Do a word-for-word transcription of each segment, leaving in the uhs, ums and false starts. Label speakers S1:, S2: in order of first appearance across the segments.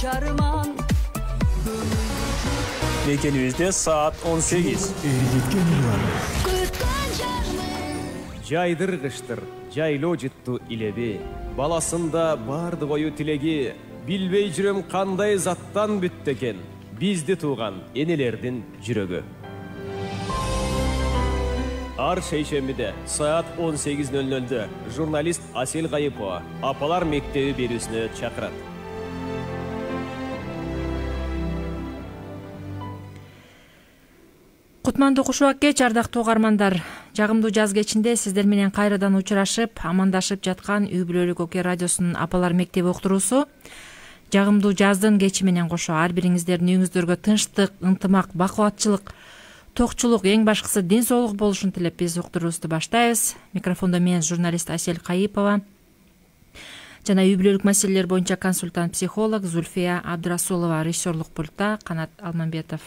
S1: чарман.
S2: Мекенибизде саат он сегиз.
S3: Жайдыр кыштыр, жайлоо жытту илеби. Баласында барды кою тилеги. Билбей жүрөм кандай заттан бүттү экен. Бизди тууган энелердин жүрөгү. Ар шейшембиде саат он сегиз ноль нольдө журналист Асель Кайыпова апалар мектеби берүүсүнө чакырат.
S4: Кутмандуу кушубак кеч, ардактуу угармандар. Жагымдуу жаз кечинде сиздер менен кайрадан учурашып, амандашып жаткан Үй Бүлөлүк Оке радиосунун апалар мектеби уктуруусу. Жагымдуу жаздын кечи менен кошо ар бириңиздердин үйүңүздөргө тынчтык, ынтымак, бакубатчылык, токчулук, эң башкысы ден соолук болушун тилеп биз уктуруубузду баштайбыз. Микрофондо мен журналист Асель Кайыпова жана үй бүлөлүк маселелер боюнча консультант психолог Зульфия Абдрасулова, режиссерлук пультта Канат Алмамбетов.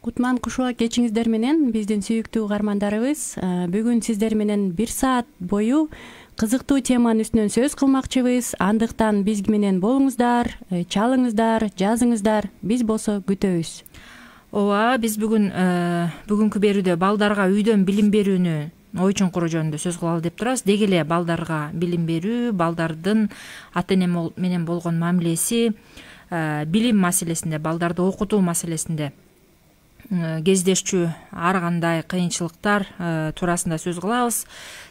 S5: Кутман кушубак кечиңиздер менен биздин сүйүктүү угармандарыбыз. Бүгүн сиздер менен бир саат бою кызыктуу теманын үстүнөн сөз кылмакчыбыз. Андыктан биз менен болуңуздар, чалыңыздар, жазыңыздар. Биз болсо күтөбүз.
S4: Ооба, биз бүгүн бүгүнкү берүүдө балдарга үйдөн билим берүүнү ой чуңкуру жөнүндө сөз кылалы деп турабыз. Деги эле балдарга билим берүү, балдардын ата эне менен болгон мамилеси, билим маселесинде, балдарды окутуу маселесинде кездешчү ар кандай кыйынчылыктар туурасында сөз кылабыз.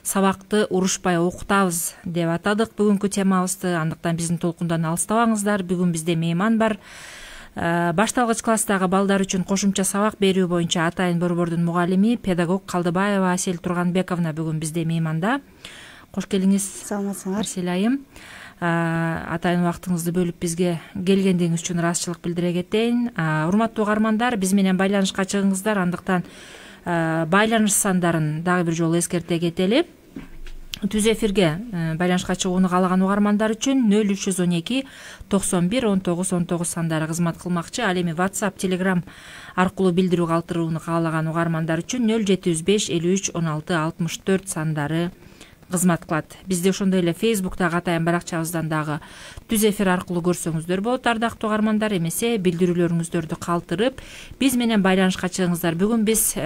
S4: Сабакты урушпай окутабыз деп атадык бүгүнкү темабызды. Андыктан биздин толкундан алыстабаңыздар. Бүгүн бизде мейман бар. Башталгыч класстагы балдар үчүн кошумча сабак берүү боюнча Атайын борбордун мугалими, педагог Калдыбаева Асель Турганбековна бүгүн бизде мейманда. Кош келиңиз.
S6: Саламатсыңар.
S4: Асель айым. Атайын убактыңызды бөлүп бизге келгендигиңиз үчүн ыраазычылык билдире кетейин. Урматтуу угармандар, биз менен байланышка чыгыңыздар. Андыктан байланыш сандарын дагы бир жолу эскерте кетели. Түз эфирге байланышка чыгууну каалаган угармандар үчүн нөл үч жүз он эки токсон бир он тогуз он тогуз сандары кызмат кылмакчы. Ал эми WhatsApp, Telegram аркылуу билдирүү калтырууну каалаган угармандар үчүн нөл жети жүз беш элүү үч он алты алтымыш төрт сандары кызмат кылат. Бизде ошондой эле Facebook'тагы Атайын баракчабыздан дагы түз эфир аркылуу көрсөңүздөр болот, ардактуу угармандар. Эмесе билдирүүлөрүңүздөрдү калтырып биз менен байланышка чыгыңыздар. Бүгүн биз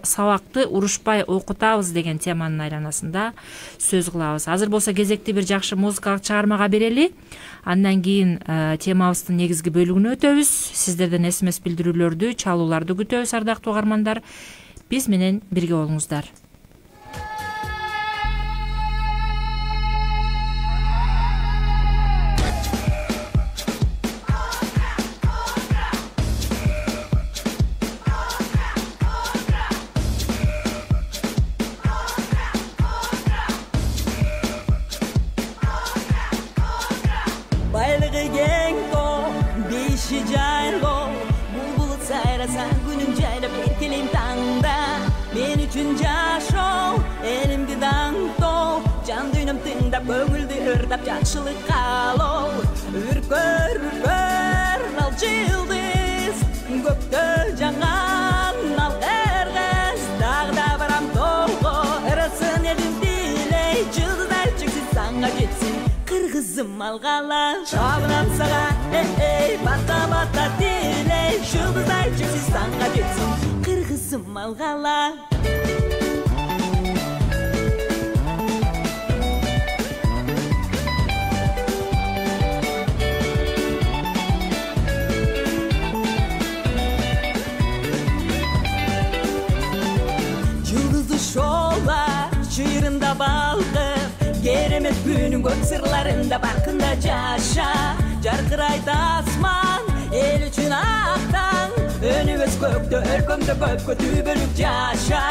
S4: сабакты урушпай окутабыз деген теманын айланасында сөз кылабыз. Азыр болсо кезекти бир жакшы музыкалык чыгармага берели. Андан кийин темабыздын негизги бөлүгүнө өтөбүз. Сиздерден эс эм эс билдирүүлөрдү, чалууларды күтөбүз, ардактуу угармандар. Биз менен бирге болуңуздар.
S7: Көңүлдү ырдап жакшылык каалоо, үркөр үркөр ал жылдыз, көктө жаңган ал кыргыз, дагы да барам толго, ырасын элим дилей, жылдыздар чексиз саңга жетсин, кыргызым алгала, шабынам сага, эй, бата бата дилей, жылдыздар чексиз саңга жетсин, кыргызым алгала. Чыйрында балкып, керемет күнүн көк сырларында баркында жаша. Жаркырайт асман, эл үчүн актаң, өнүбөз көктө, өлкөмдө көпкө түбөлүк жаша.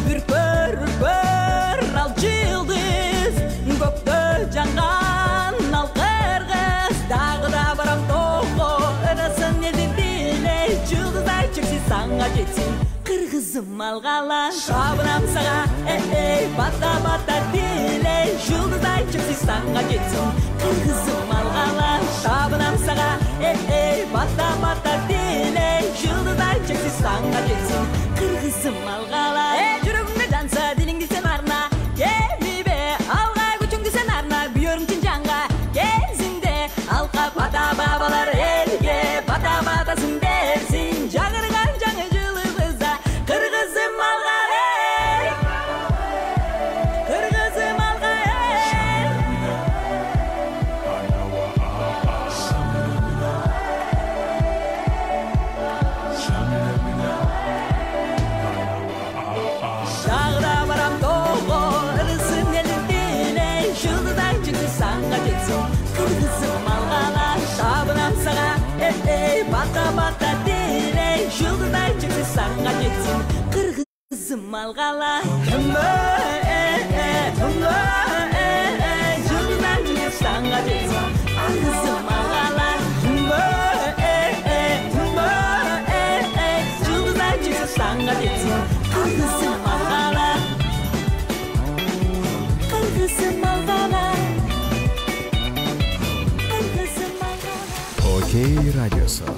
S7: Үркөр, үркөр ал жылдыз, көктө жаңган ал кыргыз, дагы да барам толго, ырасын элдин дилей, жылдыздар чексиз саңга жетсин, кыргызым алгала, шабынам сага, эй, бата бата дилей, жылдыздар чексиз саңга жетсин, кыргызым алгала, шабынам сага, эй, бата бата дилей, жылдыздар чексиз саңга жетсин, кыргызым алгала. Эй, жүрөгүңдө жанса, дилиңди сен арна, келбе, алга күчүңдү сен арна, бүйөрүң чын жанга, кезиңде алка бата бабалар, эй. алгала түмө түмө жылдан жыл санга жетсин кызым алгала түмө түмө жылдан жыл санга жетсин кызым алгала кызым алгала кызым алгала.
S3: Окей радиосу.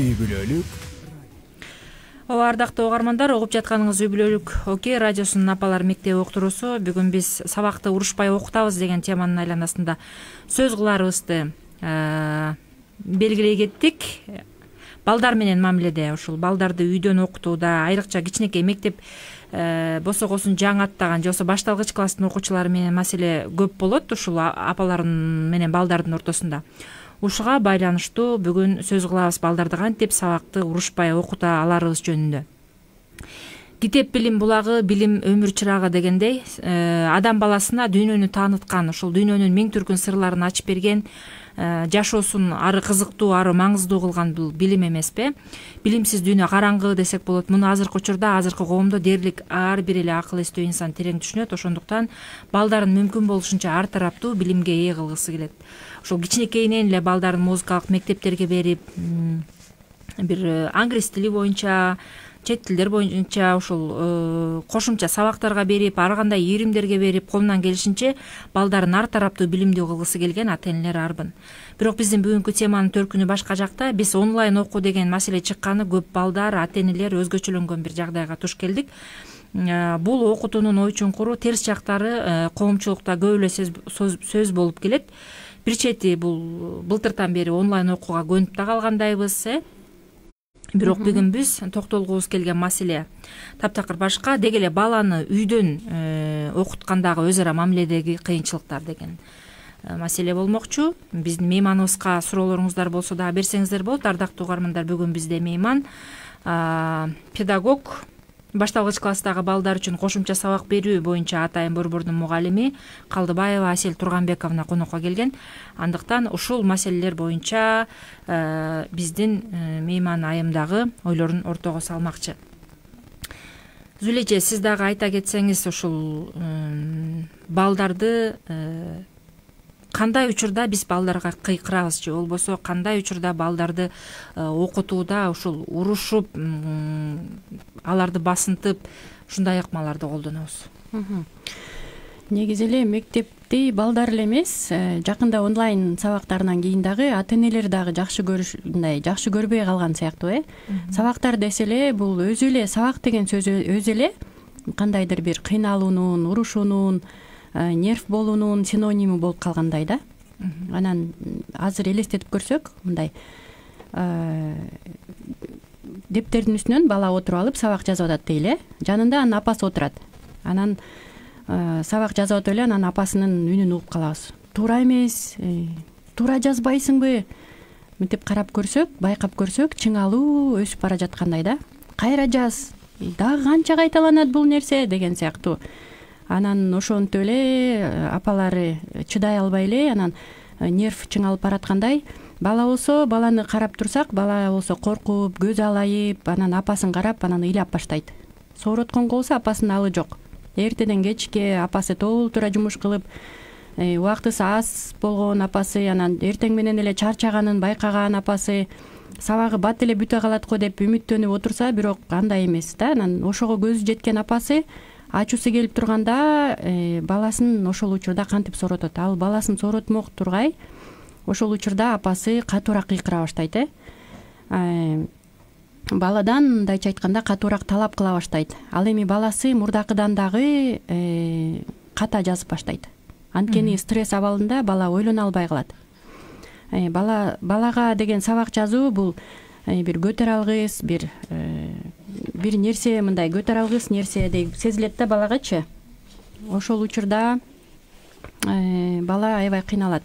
S3: Үй бүлөлүк.
S4: Ооба, ардактуу угармандар, угуп жатканыңыз Үй бүлөлүк Окей радиосунун апалар мектеби уктуруусу. Бүгүн биз сабакты урушпай окутабыз деген теманын айланасында сөз кыларыбызды белгилей кеттик. Балдар менен мамиледе, ушул балдарды үйдөн окутууда, айрыкча кичинекей мектеп босогосун жаңы аттаган же болбосо башталгыч класстын окуучулары менен маселе көп болот ушул апалар менен балдардын ортосунда. Ушуга байланыштуу бүгүн сөз кылабыз балдарды кантип сабакты урушпай окута аларыбыз жөнүндө. Китеп билим булагы, билим өмүр чырагы дегендей, адам баласына дүйнөнү тааныткан, ушул дүйнөнүн миң түркүн сырларын ачып берген, жашоосун ары кызыктуу, ары маңыздуу кылган бул билим эмеспи? Билимсиз дүйнө караңгы десек болот. Муну азыркы учурда, азыркы коомдо дээрлик ар бир эле акыл эстүү инсан терең түшүнөт. Ошондуктан балдарын мүмкүн болушунча ар тараптуу билимге ээ кылгысы келет. Ошол кичинекейинен эле балдарын музыкалык мектептерге берип, бир англис тили боюнча, чет тилдер боюнча ушул кошумча сабактарга берип, ар кандай ийримдерге берип, колунан келишинче балдарын ар тараптуу билимдүү кылгысы келген ата энелер арбын. Бирок биздин бүгүнкү теманын төркүнү башка жакта. Биз онлайн окуу деген маселе чыкканы көп балдар, ата энелер өзгөчөлөнгөн бир жагдайга туш келдик. Бул окутуунун ой чуңкуру, терс жактары коомчулукта көп эле сөз болуп келет. Бир чети бул былтыртан бери онлайн окууга көнүп да калгандайбыз, э? Бирок бүгүн биз токтолгубуз келген маселе таптакыр башка. Деги эле баланы үйдөн окуткандагы өз ара мамиледеги кыйынчылыктар деген маселе болмокчу. Биздин мейманыбызга суроолоруңуздар болсо дагы берсеңиздер болот. Ардактуу угармандар, бүгүн бизде мейман педагог, башталгыч класстагы балдар үчүн кошумча сабак берүү боюнча Атайын борбордун мугалими Калдыбаева Асель Турганбековна конокко келген. Андыктан ушул маселелер боюнча биздин мейман айым дагы ойлорун ортого салмакчы. Зүле эже, сиз дагы айта кетсеңиз, ушул балдарды кандай учурда биз балдарга кыйкырабыз же болбосо кандай учурда балдарды окутууда ушул урушуп, аларды басынтып, ушундай ыкмаларды колдонобуз?
S5: Негизи эле мектепти балдар эле эмес, жакында онлайн сабактарынан кийин дагы ата энелер дагы жакшы көрүш, мындай жакшы көрбөй калган сыяктуу, э. Сабактар десе эле бул өзү эле сабак деген сөз өзү эле кандайдыр бир кыйналуунун, урушуунун, нерв болуунун синоними болуп калгандай да. Анан азыр элестетип көрсөк, мындай дептердин үстүнөн бала отуруп алып сабак жазып атат дейли, э. Жанында анын апасы отурат. Анан сабак жазып атып эле анан апасынын үнүн угуп калабыз. Туура эмес, туура жазбайсыңбы? Мынтип карап көрсөк, байкап көрсөк, чыңалуу өсүп бара жаткандай да. Кайра жаз, дагы канча кайталанат бул нерсе деген сыяктуу. Анан ошонтип эле апалары чыдай албай эле анан нерв чыңалып бараткандай. Бала болсо, баланы карап турсак, бала болсо коркуп, көз алайып, анан апасын карап, анан ыйлап баштайт. Сооротконго болсо апасынын алы жок. Эртеден кечке апасы толтура жумуш кылып, убактысы аз болгон апасы, анан эртең менен эле чарчаганын байкаган апасы, сабагы бат эле бүтө калат го деп үмүттөнүп отурса, бирок андай эмес да. Анан ошого көзү жеткен апасы ачуусу келип турганда баласын ошол учурда кантип сооротот? Ал баласын сооротмок тургай, ошол учурда апасы катуураак кыйкыра баштайт, э. Баладан мындайча айтканда катуураак талап кыла баштайт. Ал эми баласы мурдакыдан дагы ката жазып баштайт. Анткени стресс абалында бала ойлоно албай калат. Бала балага деген сабак жазуу бул бир көтөрө алгыс, бир бир нерсе, мындай көтөрө алгыс нерсе деп сезилет да балагачы. Ошол учурда бала аябай кыйналат.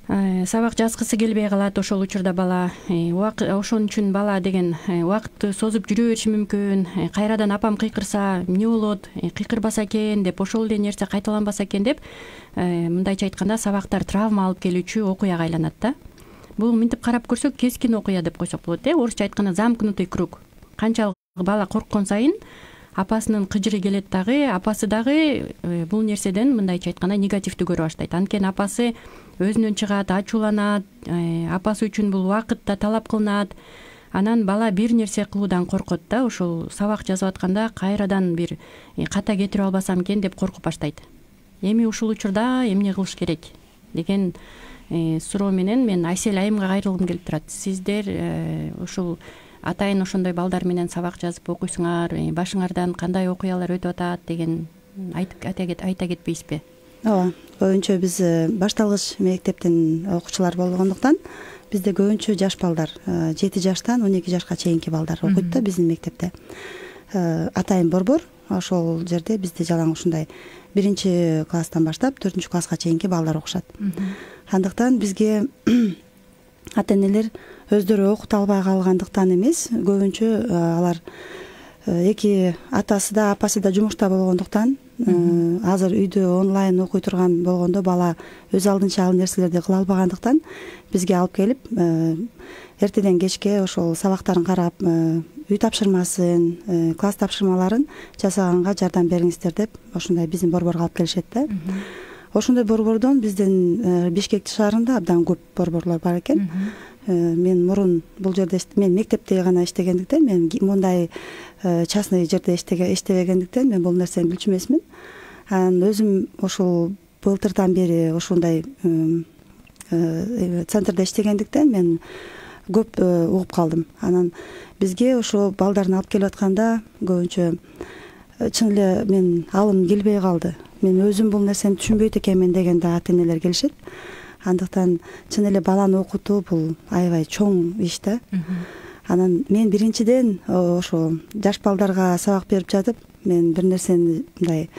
S5: Сабак жазгысы келбей калат. Ошол учурда бала ошон үчүн бала деген убакытты созуп жүрө бериши мүмкүн. Кайрадан апам кыйкырса эмне болот, кыйкырбаса экен деп, ошол эле нерсе кайталанбаса экен деп, мындайча айтканда сабактар травма алып келүүчү окуяга айланат да. бул мынтип карап көрсөк кескин окуя деп койсок болот э орусча айтканда замкнутый круг. Канчалык бала корккон сайын апасынын кыжыры келет дагы, апасы дагы бул нерседен мындайча айтканда негативдүү көрө баштайт. Анткени апасы өзүнөн чыгат, ачууланат, апасы үчүн бул убакыт да талап кылынат. Анан бала бир нерсе кылуудан коркот да, ошол сабак жазып атканда кайрадан бир ката кетирип албасам экен деп коркуп баштайт. Эми ушул учурда эмне кылыш керек деген суроо менен мен Айсел айымга кайрылгым келип турат. Сиздер ушул атайын ошондой балдар менен сабак жазып окуйсуңар, башыңардан кандай окуялар өтүп атат деген айтып айта кетпейсизби?
S1: Ооба, көбүнчө биз башталгыч мектептин окуучулары болгондуктан бизде көбүнчө жаш балдар, жети жаштан он эки жашка чейинки балдар окуйт да биздин мектепте. Атайын борбор, ошол жерде бизде жалаң ушундай биринчи класстан баштап төртүнчү класска чейинки балдар окушат. Андыктан бизге ата-энелер өздөрү окута албай калгандыктан эмес, көбүнчө алар эки атасы да апасы да жумушта болгондуктан азыр үйдө онлайн окуй турган болгондо бала өз алдынча ал нерселерди кыла албагандыктан бизге алып келип эртеден кечке ошол сабактарын карап, үй тапшырмасын, класс тапшырмаларын жасаганга жардам бериңиздер деп ошондой биздин борборго алып келишет да. Ошондой борбордон биздин Бишкек шаарында абдан көп борборлор бар экен. Мен мурун бул жерде мен мектепте гана иштегендиктен, мен мындай частный жерде иштебегендиктен мен бул нерсени билчү эмесмин. Анан өзүм ошол былтырдан бери ошондой центрде иштегендиктен мен көп угуп калдым. Анан бизге ошо балдарын алып келип атканда көбүнчө чын эле мен алым келбей калды. Мен өзүм бул нерсени түшүнбөйт экенмин дегенде ата-энелер келишет. Андыктан чын эле баланы окутуу бул аябай чоң иш да. Анан мен биринчиден ошо жаш балдарга сабак берип жатып, мен бир нерсени мындай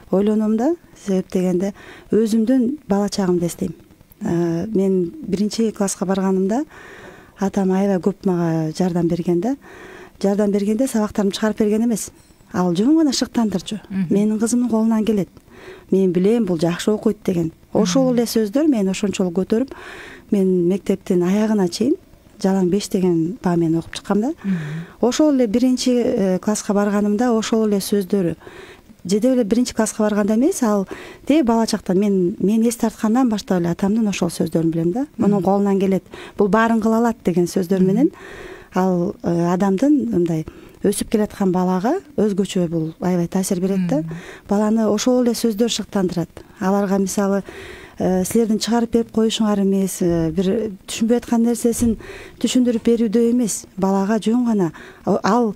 S1: ойлоном да, себеп дегенде өзүмдүн бала чагымды эстейм. Мен биринчи класска барганымда атам аябай көп мага жардам берген да. Жардам бергенде сабактарымды чыгарып берген эмес. Ал жөн гана шыктандырчу. Менин кызымдын колунан келет. Мен билем бул жакшы окуйт деген. Ошол эле сөздөр мени ошончолук көтөрүп, мен мектептин аягына чейин жалаң беш деген баа менен окуп чыккам да. Ошол эле биринчи класска барганымда ошол эле сөздөрү жеде эле биринчи класска барганда эмес, ал те бала чактан мен мен эс тарткандан баштап эле атамдын ошол сөздөрүн билем да. Мунун колунан келет, бул баарын кыла алат деген сөздөр менен ал адамдын мындай өсүп келаткан балага өзгөчө бул аябай таасир берет да. Баланы ошол эле сөздөр шыктандырат. Аларга мисалы силердин чыгарып берип коюшуңар эмес, бир түшүнбөй аткан нерсесин түшүндүрүп берүүдө эмес, балага жөн гана ал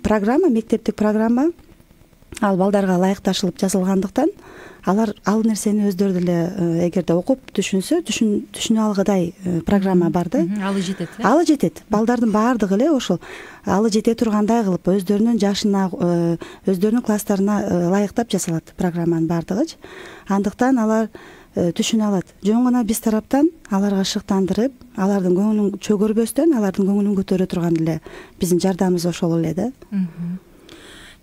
S1: программа, мектептик программа ал балдарга ылайыкташылып жазылгандыктан алар ал нерсени өздөрү деле эгерде окуп түшүнсө, түшүнө алгыдай программа бар да.
S4: Алы жетет.
S1: Алы жетет. Балдардын баардыгы эле ошол алы жете тургандай кылып өздөрүнүн жашына, өздөрүнүн класстарына ылайыктап жасалат программанын баардыгычы. Андыктан алар түшүнө алат. Жөн гана биз тараптан аларга шыктандырып, алардын көңүлүн чөгөрбөстөн, алардын көңүлүн көтөрө турган эле биздин жардамыбыз ошол эле да.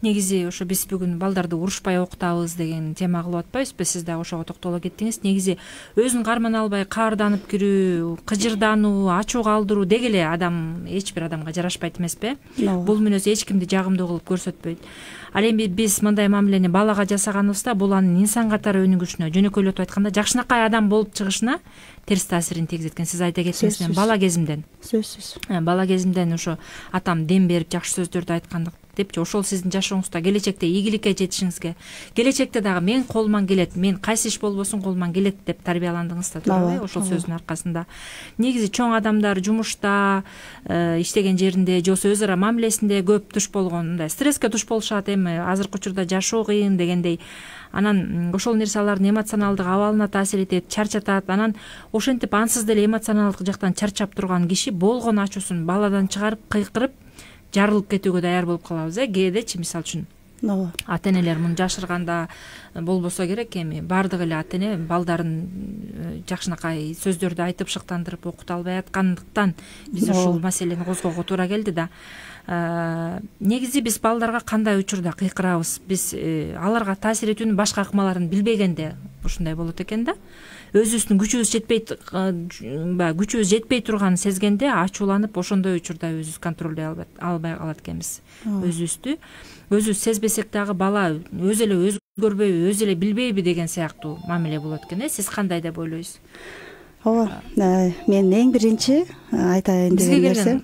S4: Негизи ошо биз бүгүн балдарды урушпай окутабыз деген тема кылып атпайбызбы? Сиз дагы ошого токтоло кеттиңиз. Негизи өзүн кармана албай каарданып кирүү, кыжырдануу, ачуу калтыруу деги эле адам эч бир адамга жарашпайт эмеспи? Бул мүнөз эч кимди жагымдуу кылып көрсөтпөйт. Ал эми биз мындай мамилени балага жасаганыбызда бул анын инсан катары өнүгүшүнө, жөнөкөйлөтүп айтканда жакшынакай адам болуп чыгышына терс таасирин тийгизет экен. Сиз айта кеттиңиз, мен бала кезимден.
S1: Сөзсүз.
S4: Бала кезимден ошо атам дем берип жакшы сөздөрдү айткандык депчи, ошол сиздин жашооңузда келечекте ийгиликке жетишиңизге, келечекте дагы мен колуман келет, мен кайсы иш болбосун колуман келет деп тарбияландыңыз да, туурабы? Ошол сөздүн аркасында негизи чоң адамдар жумушта, иштеген жеринде, же болбосо өз ара мамилесинде көп туш болгон, мындай стресске туш болушат. Эми азыркы учурда жашоо кыйын дегендей, анан ошол нерсе алардын эмоционалдык абалына таасир этет, чарчатат. Анан ошентип ансыз деле эмоционалдык жактан чарчап турган киши болгон ачуусун баладан чыгарып, кыйкырып жарылып кетүүгө даяр болуп калабыз. Э кээдечи мисалы үчүн ооба, ата-энелер муну жашырганда болбосо керек. Эми баардык эле ата-эне балдарын жакшынакай сөздөрдү айтып шыктандырып окута албай аткандыктан биз ушул маселени козгоого туура келди да. Негизи биз балдарга кандай учурда кыйкырабыз? Биз аларга таасир этүүнүн башка ыкмаларын билбегенде ушундай болот экен да. Өзүбүздүн күчүбүз жетпей баягы күчүбүз жетпей турганын сезгенде ачууланып ошондой учурда өзүбүз контролдой албай калат экенбиз өзүбүздү. Өзүбүз сезбесек дагы бала өзү эле өзгөрбөйбү, өзү эле билбейби деген сыяктуу мамиле болот экен. Сиз кандай деп ойлойсуз?
S1: Ооба, мен эң биринчи айтайын деген нерсе.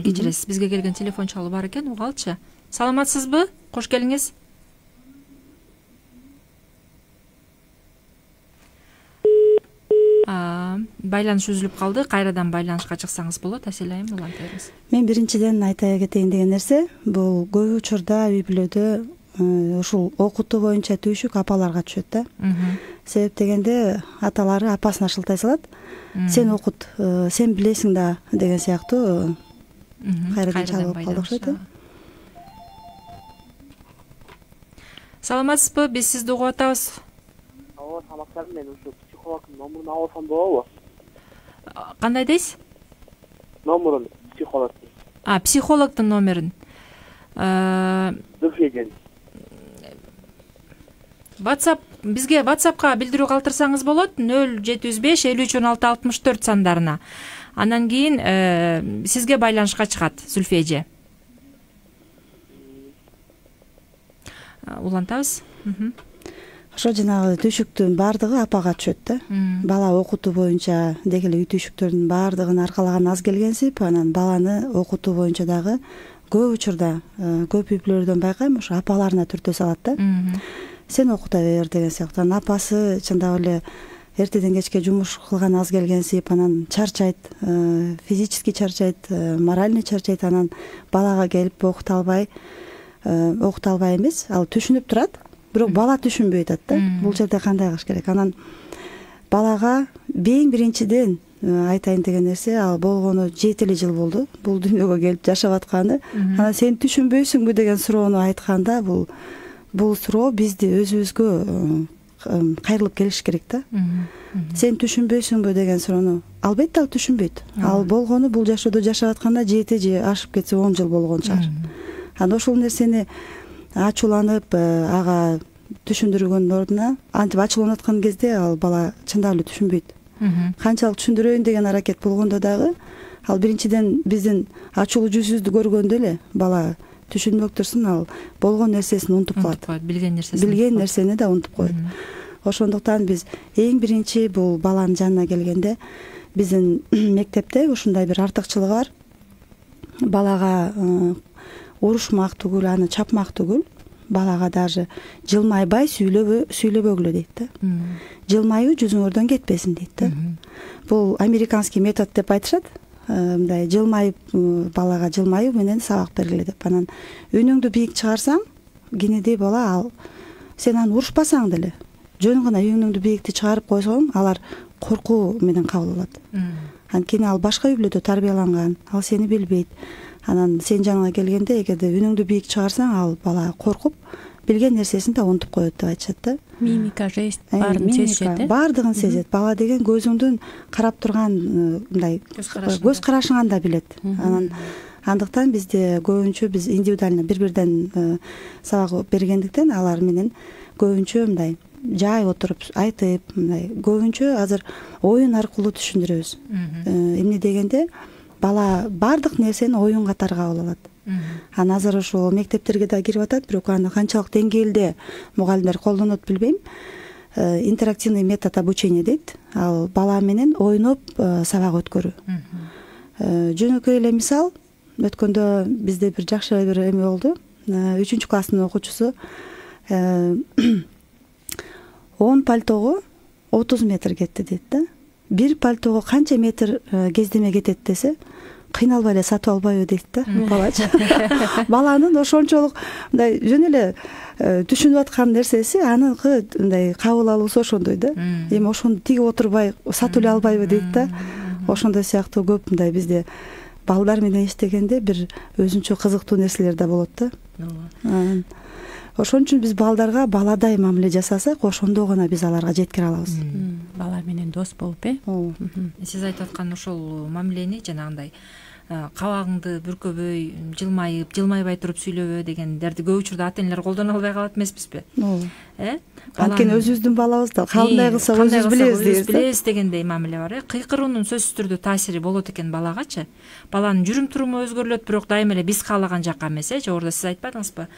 S4: Кечиресиз, бизге келген телефон чалуу бар экен, угалчы. Саламатсызбы? Кош келиңиз. Байланыш үзүлүп калды. Кайрадан байланышка чыксаңыз болот. Асель айым, улантыңыз.
S1: Мен биринчиден айта кетейин деген нерсе, бул көп учурда үй бүлөдө ушул окутуу боюнча түйшүк апаларга түшөт да. Себеп дегенде аталары апасына шылтай салат. Сен окут, сен билесиң да деген сыяктуу кайрадан чалып калды окшойт.
S4: Саламатсызбы? Биз сизди угуп атабыз.
S6: Ооба, саламатсызбы? Мен ушу психологдун номурун алсам болобу?
S4: Кандай дейсиз?
S6: Номурун психологдун.
S4: А, психологдун номерин.
S6: Зульфия.
S4: WhatsApp бизге WhatsAppка билдирүү калтырсаңыз болот. нөл жети жүз беш элүү үч он алты алтымыш төрт сандарына. Андан кийин сизге байланышка чыгат Зульфия эже. Улантабыз.
S1: Ошо жанагы түйшүктүн баардыгы апага түшөт да. Бала окутуу боюнча деги эле үй түйшүктөрдүн баардыгын аркалаган аз келгенсип, анан баланы окутуу боюнча дагы көп учурда көп үй бүлөлөрдөн байкайм, ошо апаларына түртө салат да. Сен окута бер деген сыяктуу. Апасы чындап эле эртеден кечке жумуш кылган аз келгенсип, анан чарчайт, физически чарчайт, моральный чарчайт, анан балага келип окута албай, окута албай эмес, ал түшүнүп турат, бирок бала түшүнбөй атат да. Бул жерде кандай кылыш керек? Анан балага эң биринчиден айтайын деген нерсе, ал болгону жети эле жыл болду бул дүйнөгө келип жашап атканы. Анан сен түшүнбөйсүңбү деген суроону айтканда, бул бул суроо бизди өзүбүзгө кайрылып келиш керек да. Сен түшүнбөйсүңбү деген суроону албетте ал түшүнбөйт. Ал болгону бул жашоодо жашап атканда жети же ашып кетсе он жыл болгон чыгар. Анан ошол нерсени ачууланып ага түшүндүргөндүн ордуна, антип ачууланып аткан кезде ал бала чындап эле түшүнбөйт. Канчалык түшүндүрөйүн деген аракет болгондо дагы ал биринчиден биздин ачуулуу жүзүбүздү көргөндө эле бала түшүнбөк турсун, ал болгон нерсесин унутуп калат.
S4: Билген нерсесин.
S1: Билген нерсени да унутуп коет. Ошондуктан биз эң биринчи бул баланын жанына келгенде биздин мектепте ушундай бир артыкчылыгы бар. Балага урушмак түгүл, аны чапмак түгүл, балага даже жылмайбай сүйлөбө сүйлөбөгүлө дейт да. Жылмаюу жүзүңөрдөн кетпесин дейт да. Бул американский метод деп айтышат. Мындай жылмайып балага жылмаюу менен сабак бергиле деп. Анан үнүңдү бийик чыгарсаң, кенедей бала ал сен аны урушпасаң деле жөн гана үнүңдү бийикти чыгарып койсоң, алар коркуу менен кабыл алат. Анткени ал башка үй бүлөдө тарбияланган, ал сени билбейт. Анан сен жаныңа келгенде эгерде үнүңдү бийик чыгарсаң, ал бала коркуп билген нерсесин да унутуп коет деп айтышат да.
S5: Мимика, жест баарын сезет.
S1: Баардыгын сезет. Бала деген көзүңдүн карап турган мындай көз карашыңан да билет. Анан андыктан бизде көбүнчө биз индивидуально бири-бирден сабак бергендиктен алар менен көбүнчө мындай жай отуруп айтып, мындай көбүнчө азыр оюн аркылуу түшүндүрөбүз. Эмне дегенде бала баардык нерсени оюн катары кабыл алат. Анан азыр ошол мектептерге да кирип атат, бирок аны канчалык деңгээлде мугалимдер колдонот билбейм. Интерактивный метод обучения дейт. Ал бала менен ойноп сабак өткөрүү. Жөнөкөй эле мисал, өткөндө бизде бир жакшы бир эме болду. үчүнчү класстын окуучусу он пальтого отуз метр кетти дейт да. Бир пальтого канча метр кездеме кетет десе, кыйналбай эле сатып албайбы дейт да балачы. Баланын ошончолук мындай жөн эле түшүнүп аткан нерсеси, аныкы мындай кабыл алуусу ошондой да. Эми ошону тигип отурбай сатып эле албайбы дейт да. Ошондой сыяктуу көп мындай бизде балдар менен иштегенде бир өзүнчө кызыктуу нерселер да болот да. Ошон үчүн биз балдарга баладай мамиле жасасак, ошондо гана биз аларга жеткире алабыз.
S5: Бала менен дос болуп, э?
S4: Сиз айтып аткан ошол мамилени жанагындай кабагыңды бүркөбөй, жылмайып, жылмайбай туруп сүйлөбө дегендерди көп учурда ата энелер колдоно албай калат эмеспизби?
S1: ооба.
S4: Э?
S1: Анткени өзүбүздүн балабыз да кандай кылса өзүбүз билебиз дейбиз.
S4: Билебиз дегендей мамиле бар. Э? Кыйкыруунун сөзсүз түрдө таасири болот экен балагачы. Баланын жүрүм туруму өзгөрүлөт, бирок дайыма эле биз каалаган жакка эмес. Э? Жогоруда сиз айтпадыңызбы?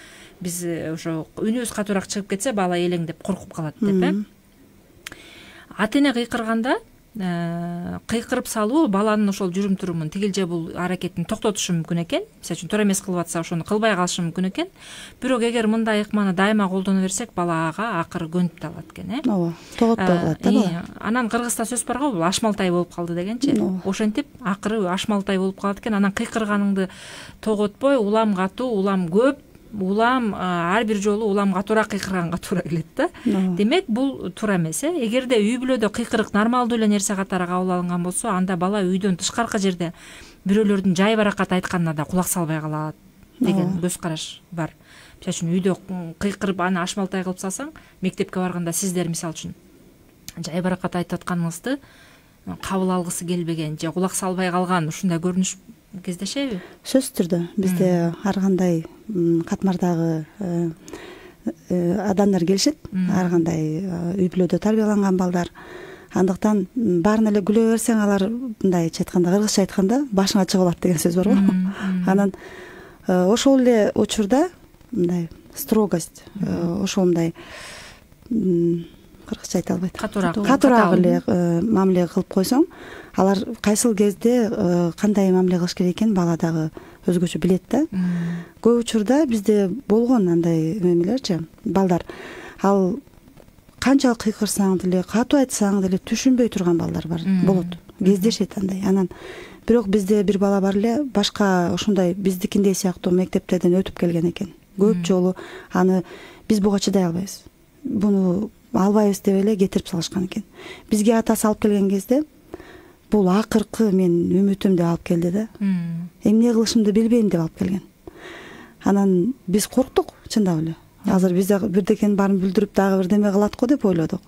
S4: Биз ошо үнүбүз катуураак чыгып кетсе бала элеңдеп коркуп калат деп. Э? Ата эне кыйкырганда кыйкырып салуу баланын ошол жүрүм турумун тигил же бул аракетин токтотушу мүмкүн экен. Мисалы үчүн туура эмес кылып атса ошону кылбай калышы мүмкүн экен. Бирок эгер мындай ыкманы дайыма колдоно берсек, бала ага акыры көнүп да алат экен. Э?
S1: Ооба, тоготпой калат да бала.
S4: Анан кыргызда сөз бар го, бул ашмалтай болуп калды дегенчи. Ошентип акыры ашмалтай болуп калат экен. Анан кыйкырганыңды тоготпой, улам катуу, улам көп, улам ар бир жолу улам катуураак кыйкырганга туура келет да. Демек бул туура эмес. Э? Эгерде үй бүлөдө кыйкырык нормалдуу эле нерсе катары кабыл алынган болсо, анда бала үйдөн тышкаркы жерде бирөөлөрдүн жай баракат айтканына да кулак салбай калат деген көз караш бар. Мисалы үчүн үйдө кыйкырып аны ашмалтай кылып салсаң, мектепке барганда сиздер мисалы үчүн жай баракат айтып атканыңызды кабыл алгысы келбеген же кулак салбай калган ушундай көрүнүш кездешеби? Сөзсүз түрдө бизде ар кандай катмардагы
S1: адамдар келишет, ар кандай үй бүлөдө тарбияланган балдар. Андыктан баарын эле күлө берсең, алар мындайча айтканда, кыргызча айтканда башыңа чыгып алат деген сөз бар го. Анан ошол эле учурда мындай строгость, ошол мындай кыргызча айта албайт. Катуураак катуураак эле мамиле кылып койсоң, алар кайсыл кезде кандай мамиле кылыш керек экенин бала дагы өзгөчө билет да. Көп учурда бизде болгон андай эмелерчи, балдар ал канчалык кыйкырсаң деле, катуу айтсаң деле түшүнбөй турган балдар бар, болот. Кездешет андай. Анан бирок бизде бир бала бар эле, башка ошондой биздикиндей сыяктуу мектептерден өтүп келген экен. Көп жолу аны биз буга чыдай албайбыз, буну албайбыз деп эле кетирип салышкан экен. Бизге атасы алып келген кезде бул акыркы мен үмүтүм деп алып келди да. Эмне кылышымды билбейм деп алып келген. Анан биз корктук, чындап эле. Азыр биз бирдекенин баарын билдирип дагы бирдеме кылат го деп ойлодук.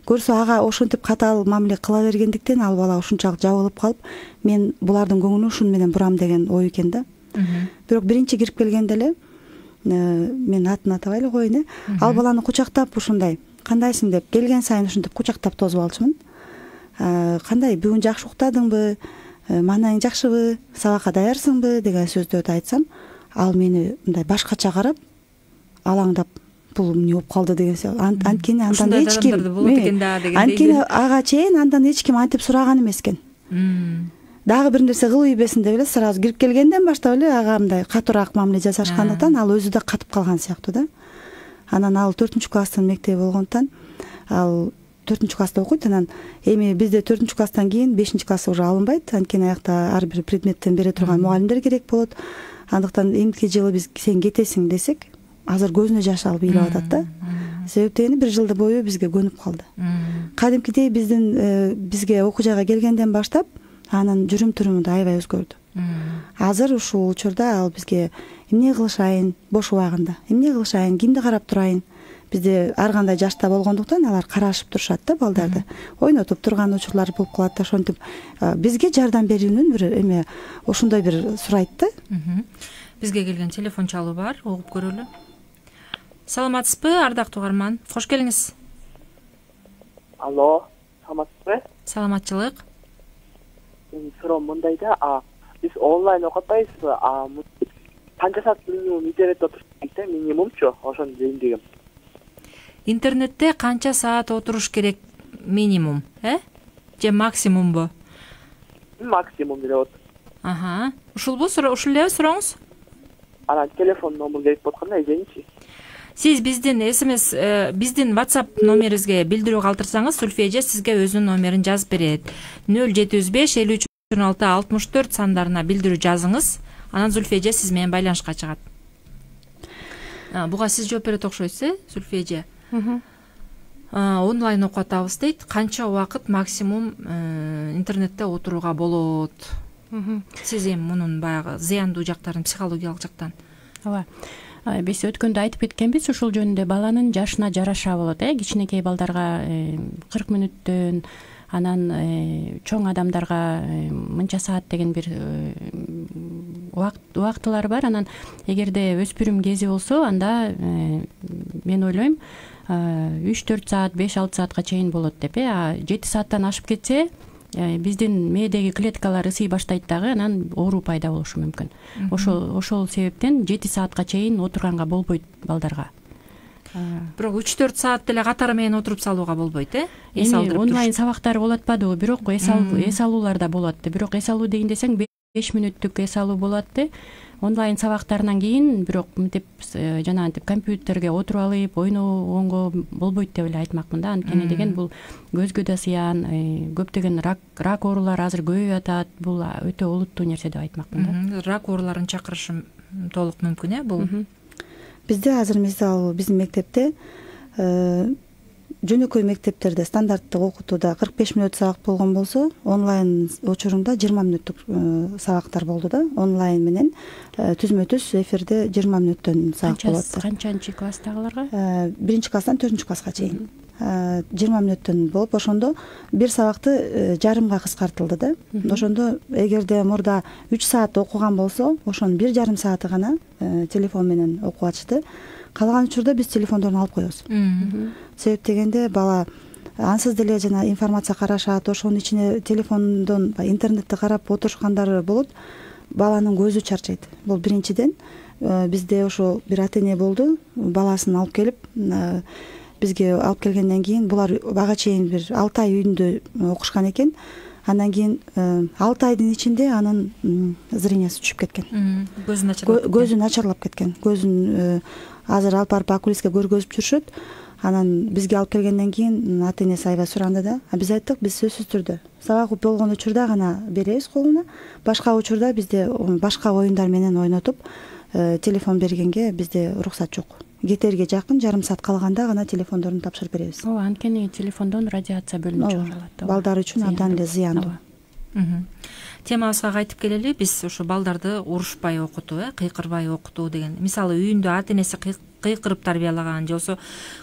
S1: Көрсө ага ошентип катаал мамиле кыла бергендиктен ал бала ушунчалык жабылып калып, мен булардын көңүлүн ушун менен бурам деген ой экен да. Бирок биринчи кирип келгенде эле мен атын атабай эле коеюн, э. Ал баланы кучактап ушундай, кандайсың деп келген сайын ушинтип кучактап тосуп алчумун. Кандай, бүгүн жакшы уктадыңбы, маанайың жакшыбы, сабакка даярсыңбы деген сөздөрдү айтсам, ал мени мындай башкача карап, алаңдап, бул эмне болуп калды деген сөз. Анткени андан эч ким болот экен да дегендей. Анткени ага чейин андан эч ким антип сураган эмес экен. Дагы бир нерсе кылып ийбесин деп эле сразу кирип келгенден баштап эле ага мындай катуураак мамиле жасашкандыктан ал өзү да катып калган сыяктуу да. Анан ал төртүнчү класстын мектеби болгондуктан ал төртүнчү класста окуйт. Анан эми бизде төртүнчү класстан кийин бешинчи класс уже алынбайт, анткени аякта ар бир предметтен бере турган мугалимдер керек болот. Андыктан эмки жылы биз сен кетесиң десек, азыр көзүнө жаш алып ыйлап атат да. Себеп дегени бир жылды бою бизге көнүп калды. Кадимкидей биздин бизге окуу жайга келгенден баштап анын жүрүм туруму да аябай өзгөрдү. Азыр ушул учурда ал бизге эмне кылышайын, бош убагында, эмне кылышайын, кимди карап турайын. Бизде ар кандай жашта болгондуктан алар карашып турушат да балдарды. Ойнотуп турган учурлар болуп калат да, ошентип бизге жардам берүүнүн бир эме ошондой бир сурайт да.
S4: Бизге келген телефон чалуу бар, угуп көрөлү. Саламатсызбы, ардактуу угарман? Кош келиңиз.
S6: Алло, саламатсызбы?
S4: Саламатчылык.
S6: Суроо мындай да, а биз онлайн окуп атпайбызбы? А канча саат минимум интернетте отуруш керек, минимумчу, ошону дейин дегем.
S4: Интернетте канча саат отуруш керек минимум, э? Же максимумбу?
S6: Максимум деле болот.
S4: Аха. Ушулбу, ушул эле сурооңуз?
S6: Анан телефон номер керек болуп атканда эженичи.
S4: Сиз биздин смс, биздин WhatsApp номерибизге билдирүү калтырсаңыз, Зүлфия эже сизге өзүнүн номерин жазып берет. нөл жети жүз беш элүү үч он алты алтымыш төрт сандарына билдирүү жазыңыз. Анан Зүлфия эже сиз менен байланышка чыгат. Буга сиз жооп берет окшойсуз, э, Зүлфия эже? Онлайн окуп атабыз дейт. Канча убакыт максимум интернетте отурууга болот? Сиз эми мунун баягы зыяндуу жактарын, психологиялык жактан.
S5: Ооба. Биз өткөндө айтып кеткенбиз, ушул жөнүндө баланын жашына жараша болот, э. Кичинекей балдарга кырк мүнөттөн, анан чоң адамдарга мынча саат деген бир убактылары бар. Анан эгерде өспүрүм кези болсо, анда мен ойлойм үч төрт саат, беш алты саатка чейин болот деп. э жети сааттан ашып кетсе, биздин мээдеги клеткалар ысый баштайт дагы, анан оору пайда болушу мүмкүн. Ошол ошол себептен жети саатка чейин отурганга болбойт балдарга.
S4: Бирок үч төрт саат деле катары менен отуруп салууга болбойт, э?
S5: Эс алдырып онлайн сабактар болуп атпадыбы? Бирок эс алуу эс алуулар да болот. Бирок эс алуу деген десең беш мүнөттүк эс алуу болот да. Онлайн сабактарынан кийин бирок мынтип жанагынтип компьютерге отуруп алып ойногонго болбойт деп эле айтмакмын да. Анткени деген бул көзгө да зыян, көптөгөн рак рак оорулары азыр көбөйүп атат. Бул өтө олуттуу нерсе деп айтмакмын да. Рак
S4: ооруларын чакырышы толук мүмкүн, э, бул.
S1: Бизде азыр мисалы биздин мектепте жөнөкөй мектептерде стандарттык окутууда кырк беш мүнөт сабак болгон болсо, онлайн учурунда жыйырма мүнөттүк сабактар болду да. Онлайн менен түзмө түз эфирде жыйырма мүнөттөн сабак болот.
S5: Канчанчы класстагыларга?
S1: Биринчи класстан төртүнчү класска чейин. жыйырма мүнөттөн болуп, ошондо бир сабакты жарымга кыскартылды да. Ошондо эгерде мурда үч саат окуган болсо, ошонун бир жарым сааты гана телефон менен окуп атышты. Калган учурда биз телефондорун алып коебуз. Себеп дегенде бала ансыз деле жана информация карашат, ошонун ичине телефондон интернетти карап отурушкандары болот. Баланын көзү чарчайт. Бул биринчиден. Бизде ошо бир ата эне болду, баласын алып келип бизге алып келгенден кийин булар ага чейин бир алты ай үйүндө окушкан экен. Андан кийин алты айдын ичинде анын зрениясы түшүп кеткен.
S4: Көзүн начарлап
S1: Көзү начарлап кеткен. Көзүн азыр алып барып окулистке көргөзүп жүрүшөт. Анан бизге алып келгенден кийин ата энеси аябай суранды да. Биз айттык, биз сөзсүз түрдө сабак болгон учурда гана беребиз колуна. Башка учурда бизде башка оюндар менен ойнотуп, телефон бергенге бизде уруксат жок. Кетерге жакын жарым саат калганда гана телефондорун тапшырып беребиз.
S5: Ооба, анткени телефондон радиация бөлүнүп чыгарылат.
S1: Балдар үчүн абдан эле зыяндуу.
S4: Темабызга кайтып келели. Биз ошо балдарды урушпай окутуу, э, кыйкырбай окутуу деген. Мисалы үйүндө ата энеси кыйкырып тарбиялаган же болбосо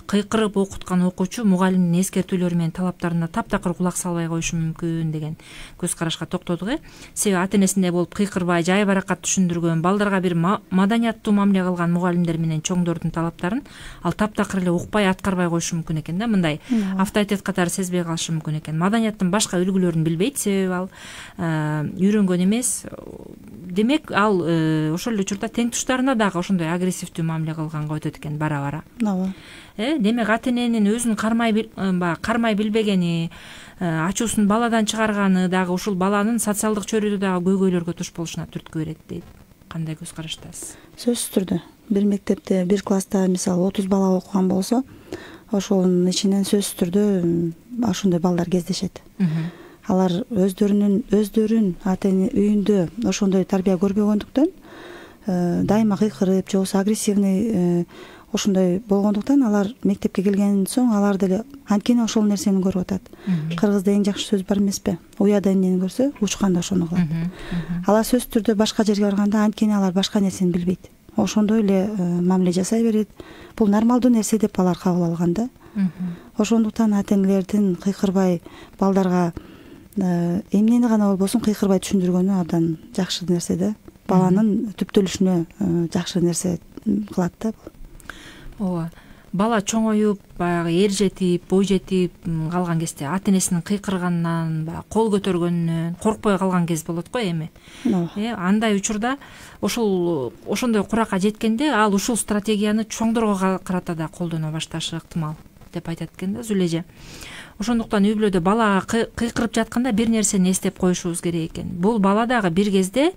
S4: кыйкырып окуткан окуучу мугалимдин эскертүүлөрү менен талаптарына таптакыр кулак салбай коюшу мүмкүн деген көз карашка токтодук, э. Себеби ата энесиндей болуп кыйкырбай, жай баракат түшүндүргөн, балдарга бир маданияттуу мамиле кылган мугалимдер менен чоңдордун талаптарын ал таптакыр эле укпай, аткарбай коюшу мүмкүн экен да. Мындай авторитет катары сезбей калышы мүмкүн экен. Маданияттын башка үлгүлөрүн билбейт, себеби ал үйрөнгөн эмес. Демек, ал ошол эле учурда тең туштарына дагы ошондой агрессивдүү мамиле кылганга өтөт экен бара-бара.
S1: Ооба.
S4: Э, демек ата эненин өзүн кармай баягы кармай билбегени, ачуусун баладан чыгарганы дагы ушул баланын социалдык чөйрөдө дагы көйгөйлөргө туш болушуна түрткү берет дейт. Кандай көз караштасыз?
S1: Сөзсүз түрдө. Бир мектепте, бир класста мисалы отуз бала окуган болсо, ошонун ичинен сөзсүз түрдө ошондой балдар кездешет. Алар өздөрүнүн өздөрүн ата эне үйүндө ошондой тарбия көрбөгөндүктөн дайыма кыйкырып же болбосо агрессивный ошондой болгондуктан алар мектепке келген соң алар деле анткени ошол нерсени көрүп атат. Кыргызда эң жакшы сөз бар эмеспи? Уяда эмнени көрсө, учканда ошону кылат. Алар сөзсүз түрдө башка жерге барганда анткени алар башка нерсени билбейт. Ошондой эле мамиле жасай берет. Бул нормалдуу нерсе деп алар кабыл алган да. Ошондуктан ата энелердин кыйкырбай балдарга эмнени гана болбосун кыйкырбай түшүндүргөнү абдан жакшы нерсе да. Баланын түптөлүшүнө жакшы нерсе кылат да.
S4: Ооба. Бала чоңоюп, баягы эр жетип, бой жетип калган кезде ата энесинин кыйкырганынан, баягы кол көтөргөнүнөн коркпой калган кез болот го эми. Э, андай учурда ошол ошондой куракка жеткенде ал ушул стратегияны чоңдорго карата да колдоно башташы ыктымал деп айтат экен да Зүлеже. Ошондуктан үй бүлөдө балага кыйкырып жатканда бир нерсени эстеп коюшубуз керек экен. Бул бала дагы бир кезде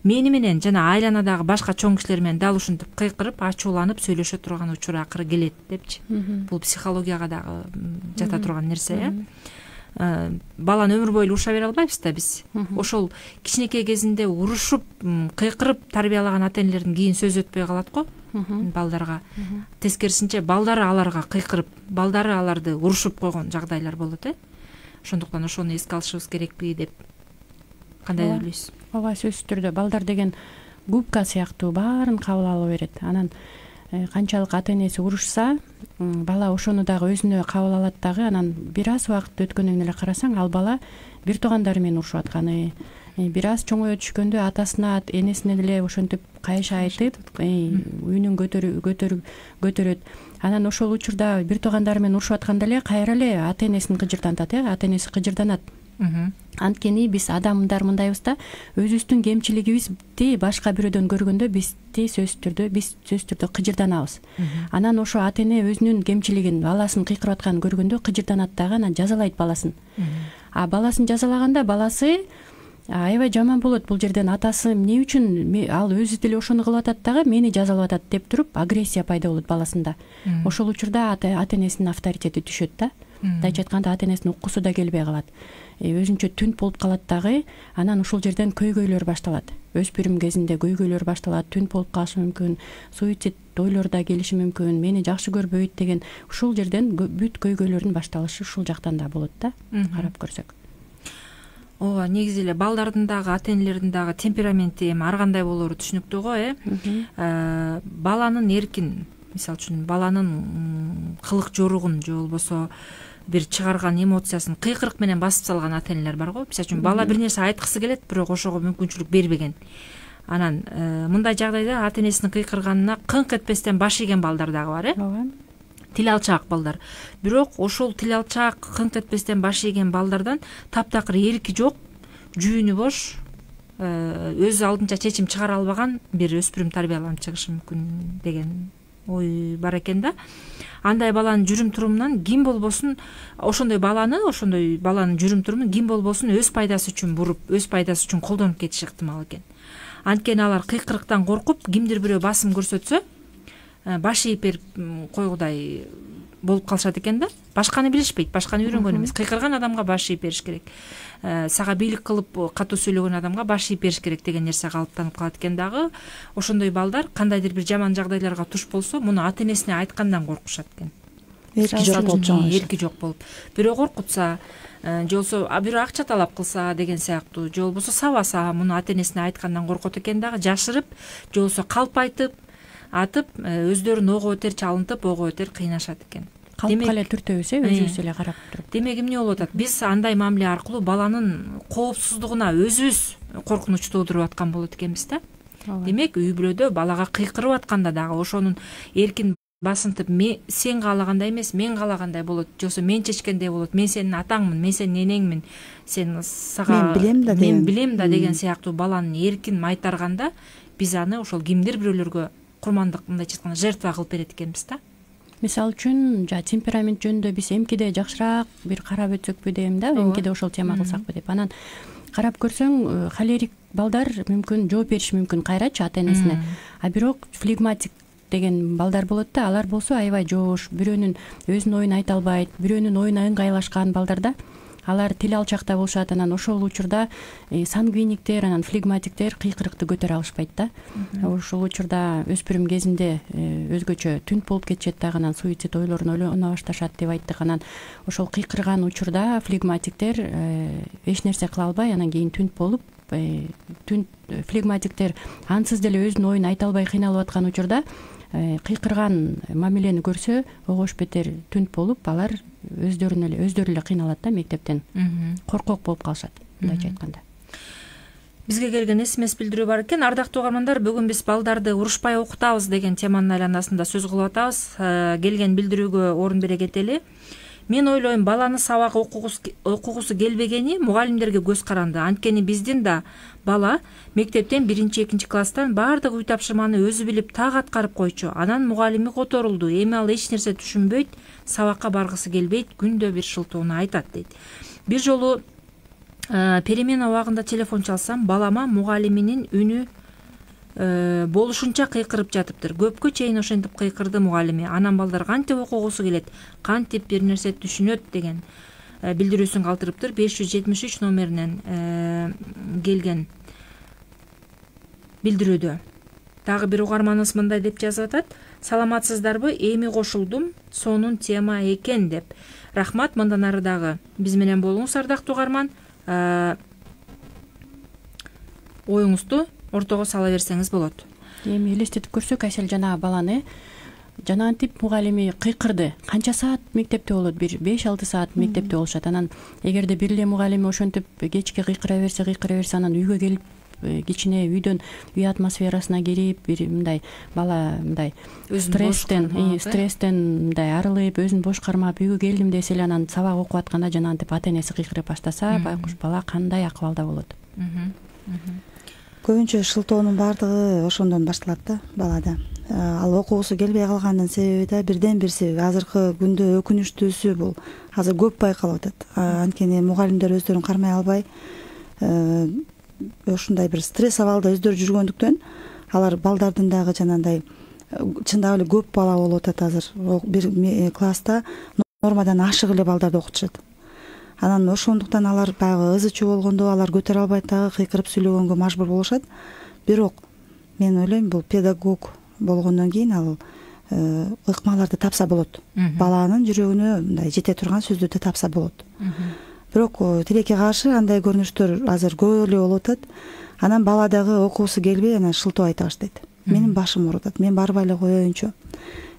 S4: мени менен жана айланадагы башка чоң кишилер менен дал ушинтип кыйкырып, ачууланып сөйлөшө турган учур акыры келет депчи. Бул психологияга дагы жата турган нерсе, э. Баланы өмүр бою уруша бере албайбыз да биз. Ошол кичинекей кезинде урушуп, кыйкырып тарбиялаган ата энелердин кийин сөз өтпөй калат го балдарга. Тескерисинче балдары аларга кыйкырып, балдары аларды урушуп койгон жагдайлар болот, э. Ошондуктан ошону эске алышыбыз керекпи деп кандай ойлойсуз?
S5: Ооба, сөзсүз түрдө балдар деген губка сыяктуу баарын кабыл ала берет. Анан канчалык ата энеси урушса, бала ошону дагы өзүнө кабыл алат дагы. Анан бир аз убакыт өткөндөн эле карасаң, ал бала бир туугандары менен урушуп атканы бир аз чоңое түшкөндө атасына энесине деле ошентип кайша айтып үнүн көтөрөт. Анан ошол учурда бир туугандары менен урушуп атканда эле кайра эле ата энесин кыжыртантат, э ата энеси кыжырданат. Анткени биз адамдар мындайбыз да, өзүбүздүн кемчилигибизди башка бирөөдөн көргөндө бизди сөзсүз түрдө биз сөзсүз түрдө кыжырданабыз. Анан ошо ата эне өзүнүн кемчилигин, баласын кыйкырып атканын көргөндө кыжырданат дагы, анан жазалайт баласын. А баласын жазалаганда баласы аябай жаман болот. Бул жерден атасы эмне үчүн ал өзү деле ошону кылып атат дагы мени жазалап атат деп туруп агрессия пайда болот баласында. Ошол учурда ата энесинин авторитети түшөт да. Мындайча айтканда ата энесинин уккусу да келбей калат. Өзүнчө түнт болуп калат дагы. Анан ушул жерден көйгөйлөр башталат. Өспүрүм кезинде көйгөйлөр башталат, түнт болуп калышы мүмкүн, суицид ойлор да келиши мүмкүн, мени жакшы көрбөйт деген ушул жерден бүт көйгөйлөрдүн башталышы ушул жактан да болот да, карап көрсөк.
S4: Ооба, негизи эле балдардын дагы ата энелердин дагы темпераменти эми ар кандай болоору түшүнүктүү го, э. Баланын эркин, мисалы үчүн баланын кылык жоругун же болбосо бир чыгарган эмоциясын кыйкырык менен басып салган ата энелер бар го. Мисалы үчүн бала бир нерсе айткысы келет, бирок ошого мүмкүнчүлүк бербеген. Анан мындай жагдайда ата энесинин кыйкырганына кыңк этпестен баш ийген балдар дагы бар, э. Ооба. Тил алчаак балдар. Бирок ошол тил алчаак, кыңк этпестен баш ийген балдардан таптакыр эрки жок, жүүнү бош, өз алдынча чечим чыгара албаган бир өспүрүм тарбияланып чыгышы мүмкүн деген ой бар экен да. Андай баланын жүрүм турумунан ким болбосун, ошондой баланы, ошондой баланын жүрүм турумун ким болбосун өз пайдасы үчүн буруп, өз пайдасы үчүн колдонуп кетиши ыктымал экен. Анткени алар кыйкырыктан коркуп, кимдир бирөө басым көрсөтсө, баш ийип берип койгудай болуп калышат экен да. Башканы билишпейт, башканы үйрөнгөн эмес. Кыйкырган адамга баш ийип бериш керек. Сага бийлик кылып катуу сөйлөгөн адамга баш ийип бериш керек деген нерсе калыптанып калат экен дагы. Ошондой балдар кандайдыр бир жаман жагдайларга туш болсо, муну ата энесине айткандан коркушат экен.
S1: Эрки жок болуп жатат.
S4: Эрки жок болуп. Бирөө коркутса, же болбосо бирөө акча талап кылса деген сыяктуу, же болбосо сабаса, муну ата энесине айткандан коркот экен дагы, жашырып, же болбосо калп айтып, атып, өздөрүн ого бетер чалынтып, ого бетер кыйнашат экен.
S5: Калпка эле түртөбүз, э, өзүбүз эле карап туруп.
S4: Демек эмне болуп атат? Биз андай мамиле аркылуу баланын коопсуздугуна өзүбүз коркунуч туудуруп аткан болот экенбиз да. Демек үй бүлөдө балага кыйкырып атканда дагы ошонун эркин басынтып, сен каалагандай эмес, мен каалагандай болот, же болбосо мен чечкендей болот, мен сенин атаңмын, мен сенин энеңмин, сен сага
S1: мен билем да
S4: мен билем да деген сыяктуу баланын эркин майтарганда биз аны ошол кимдир бирөөлөргө курмандык, мындайча айтканда, жертва кылып берет экенбиз да.
S5: Мисалы үчүн, жа темперамент жөнүндө биз эмкиде жакшыраак бир карап өтсөкпү дейм да, эмкиде ошол тема кылсакпы деп. Анан карап көрсөң, холерик балдар мүмкүн жооп бериши мүмкүн кайрачы ата энесине. А бирок флегматик деген балдар болот да, алар болсо аябай жоош, бирөөнүн өзүнүн оюн айта албайт, бирөөнүн оюна ыңгайлашкан балдарда. Алар тил алчакта болушат, анан ошол учурда сангвиниктер, анан флегматиктер кыйкырыкты көтөрө алышпайт да. Ошол учурда өспүрүм кезинде өзгөчө түнт болуп кетишет дагы, анан суицид ойлорун ойлоно башташат деп айттык. Анан ошол кыйкырган учурда флегматиктер эч нерсе кыла албай, анан кийин түнт болуп, түнт флегматиктер ансыз деле өзүнүн оюн айта албай кыйналып аткан учурда кыйкырган мамилени көрсө, огош бетер түнт болуп, алар өздөрүнө эле өздөрү эле кыйналат да мектептен. Коркок болуп калышат, мындайча айтканда.
S4: Бизге келген смс билдирүү бар экен. Ардактуу угармандар, бүгүн биз балдарды урушпай окутабыз деген теманын айланасында сөз кылып атабыз. Келген билдирүүгө орун бере кетели. Мен ойлойм, баланы сабак окугусу келбегени мугалимдерге көз каранды. Анткени биздин да бала мектептен биринчи экинчи класстан баардык үй тапшырманы өзү билип так аткарып койчу. Анан мугалими которулду. Эми ал эч нерсе түшүнбөйт, сабакка баргысы келбейт, күндө бир шылтоону айтат дейт. Бир жолу перемена убагында телефон чалсам, балама мугалиминин үнү болушунча кыйкырып жатыптыр. Көпкө чейин ошентип кыйкырды мугалими. Анан балдар кантип окугусу келет, кантип бир нерсе түшүнөт деген билдирүүсүн калтырыптыр. беш жүз жетимиш үч номеринен келген билдирүүдө. Дагы бир угарманыбыз мындай деп жазып атат: саламатсыздарбы, эми кошулдум, сонун тема экен деп. Рахмат, мындан ары дагы биз менен болуңуз, ардактуу угарман. Оюңузду ортого сала берсеңиз болот.
S5: Эми элестетип көрсөк, Айсел жанагы баланы жанагынтип мугалими кыйкырды. Канча саат мектепте болот? Бир беш алты саат мектепте болушат. Анан эгерде бир эле мугалими ошентип кечке кыйкыра берсе, кыйкыра берсе, анан үйгө келип кичине үйдөн үй атмосферасына кирип, бир мындай бала мындай стресстен, стресстен мындай арылып, өзүн бошкармап үйгө келдим десе эле, анан сабак окуп атканда жанагынтип ата энеси кыйкырып баштаса, байкуш бала кандай акыбалда болот?
S1: Көбүнчө шылтоонун баардыгы ошондон башталат да балада. Ал окугусу келбей калганын себеби да бирден бир себеби. Азыркы күндө өкүнүчтүүсү бул азыр көп байкалып атат. Анткени мугалимдер өздөрүн кармай албай, ушундай бир стресс абалда өздөрү жүргөндүктөн алар балдардын дагы жанагындай чындап эле көп бала болуп атат азыр. Бир класста нормадан ашык эле балдарды окутушат. Анан ошондуктан алар баягы ызы чуу болгондо алар көтөрө албайт, дагы кыйкырып сүйлөгөнгө мажбур болушат. Бирок мен ойлойм, бул педагог болгондон кийин ал ыкмаларды тапса болот. Баланын жүрөгүнө мындай жете турган сөздөрдү тапса болот. Бирок тилекке каршы андай көрүнүштөр азыр көп эле болуп атат. Анан бала дагы окуусу келбей, анан шылтоо айта баштайт. Менин башым ооруп атат, мен барбай эле коеюнчу.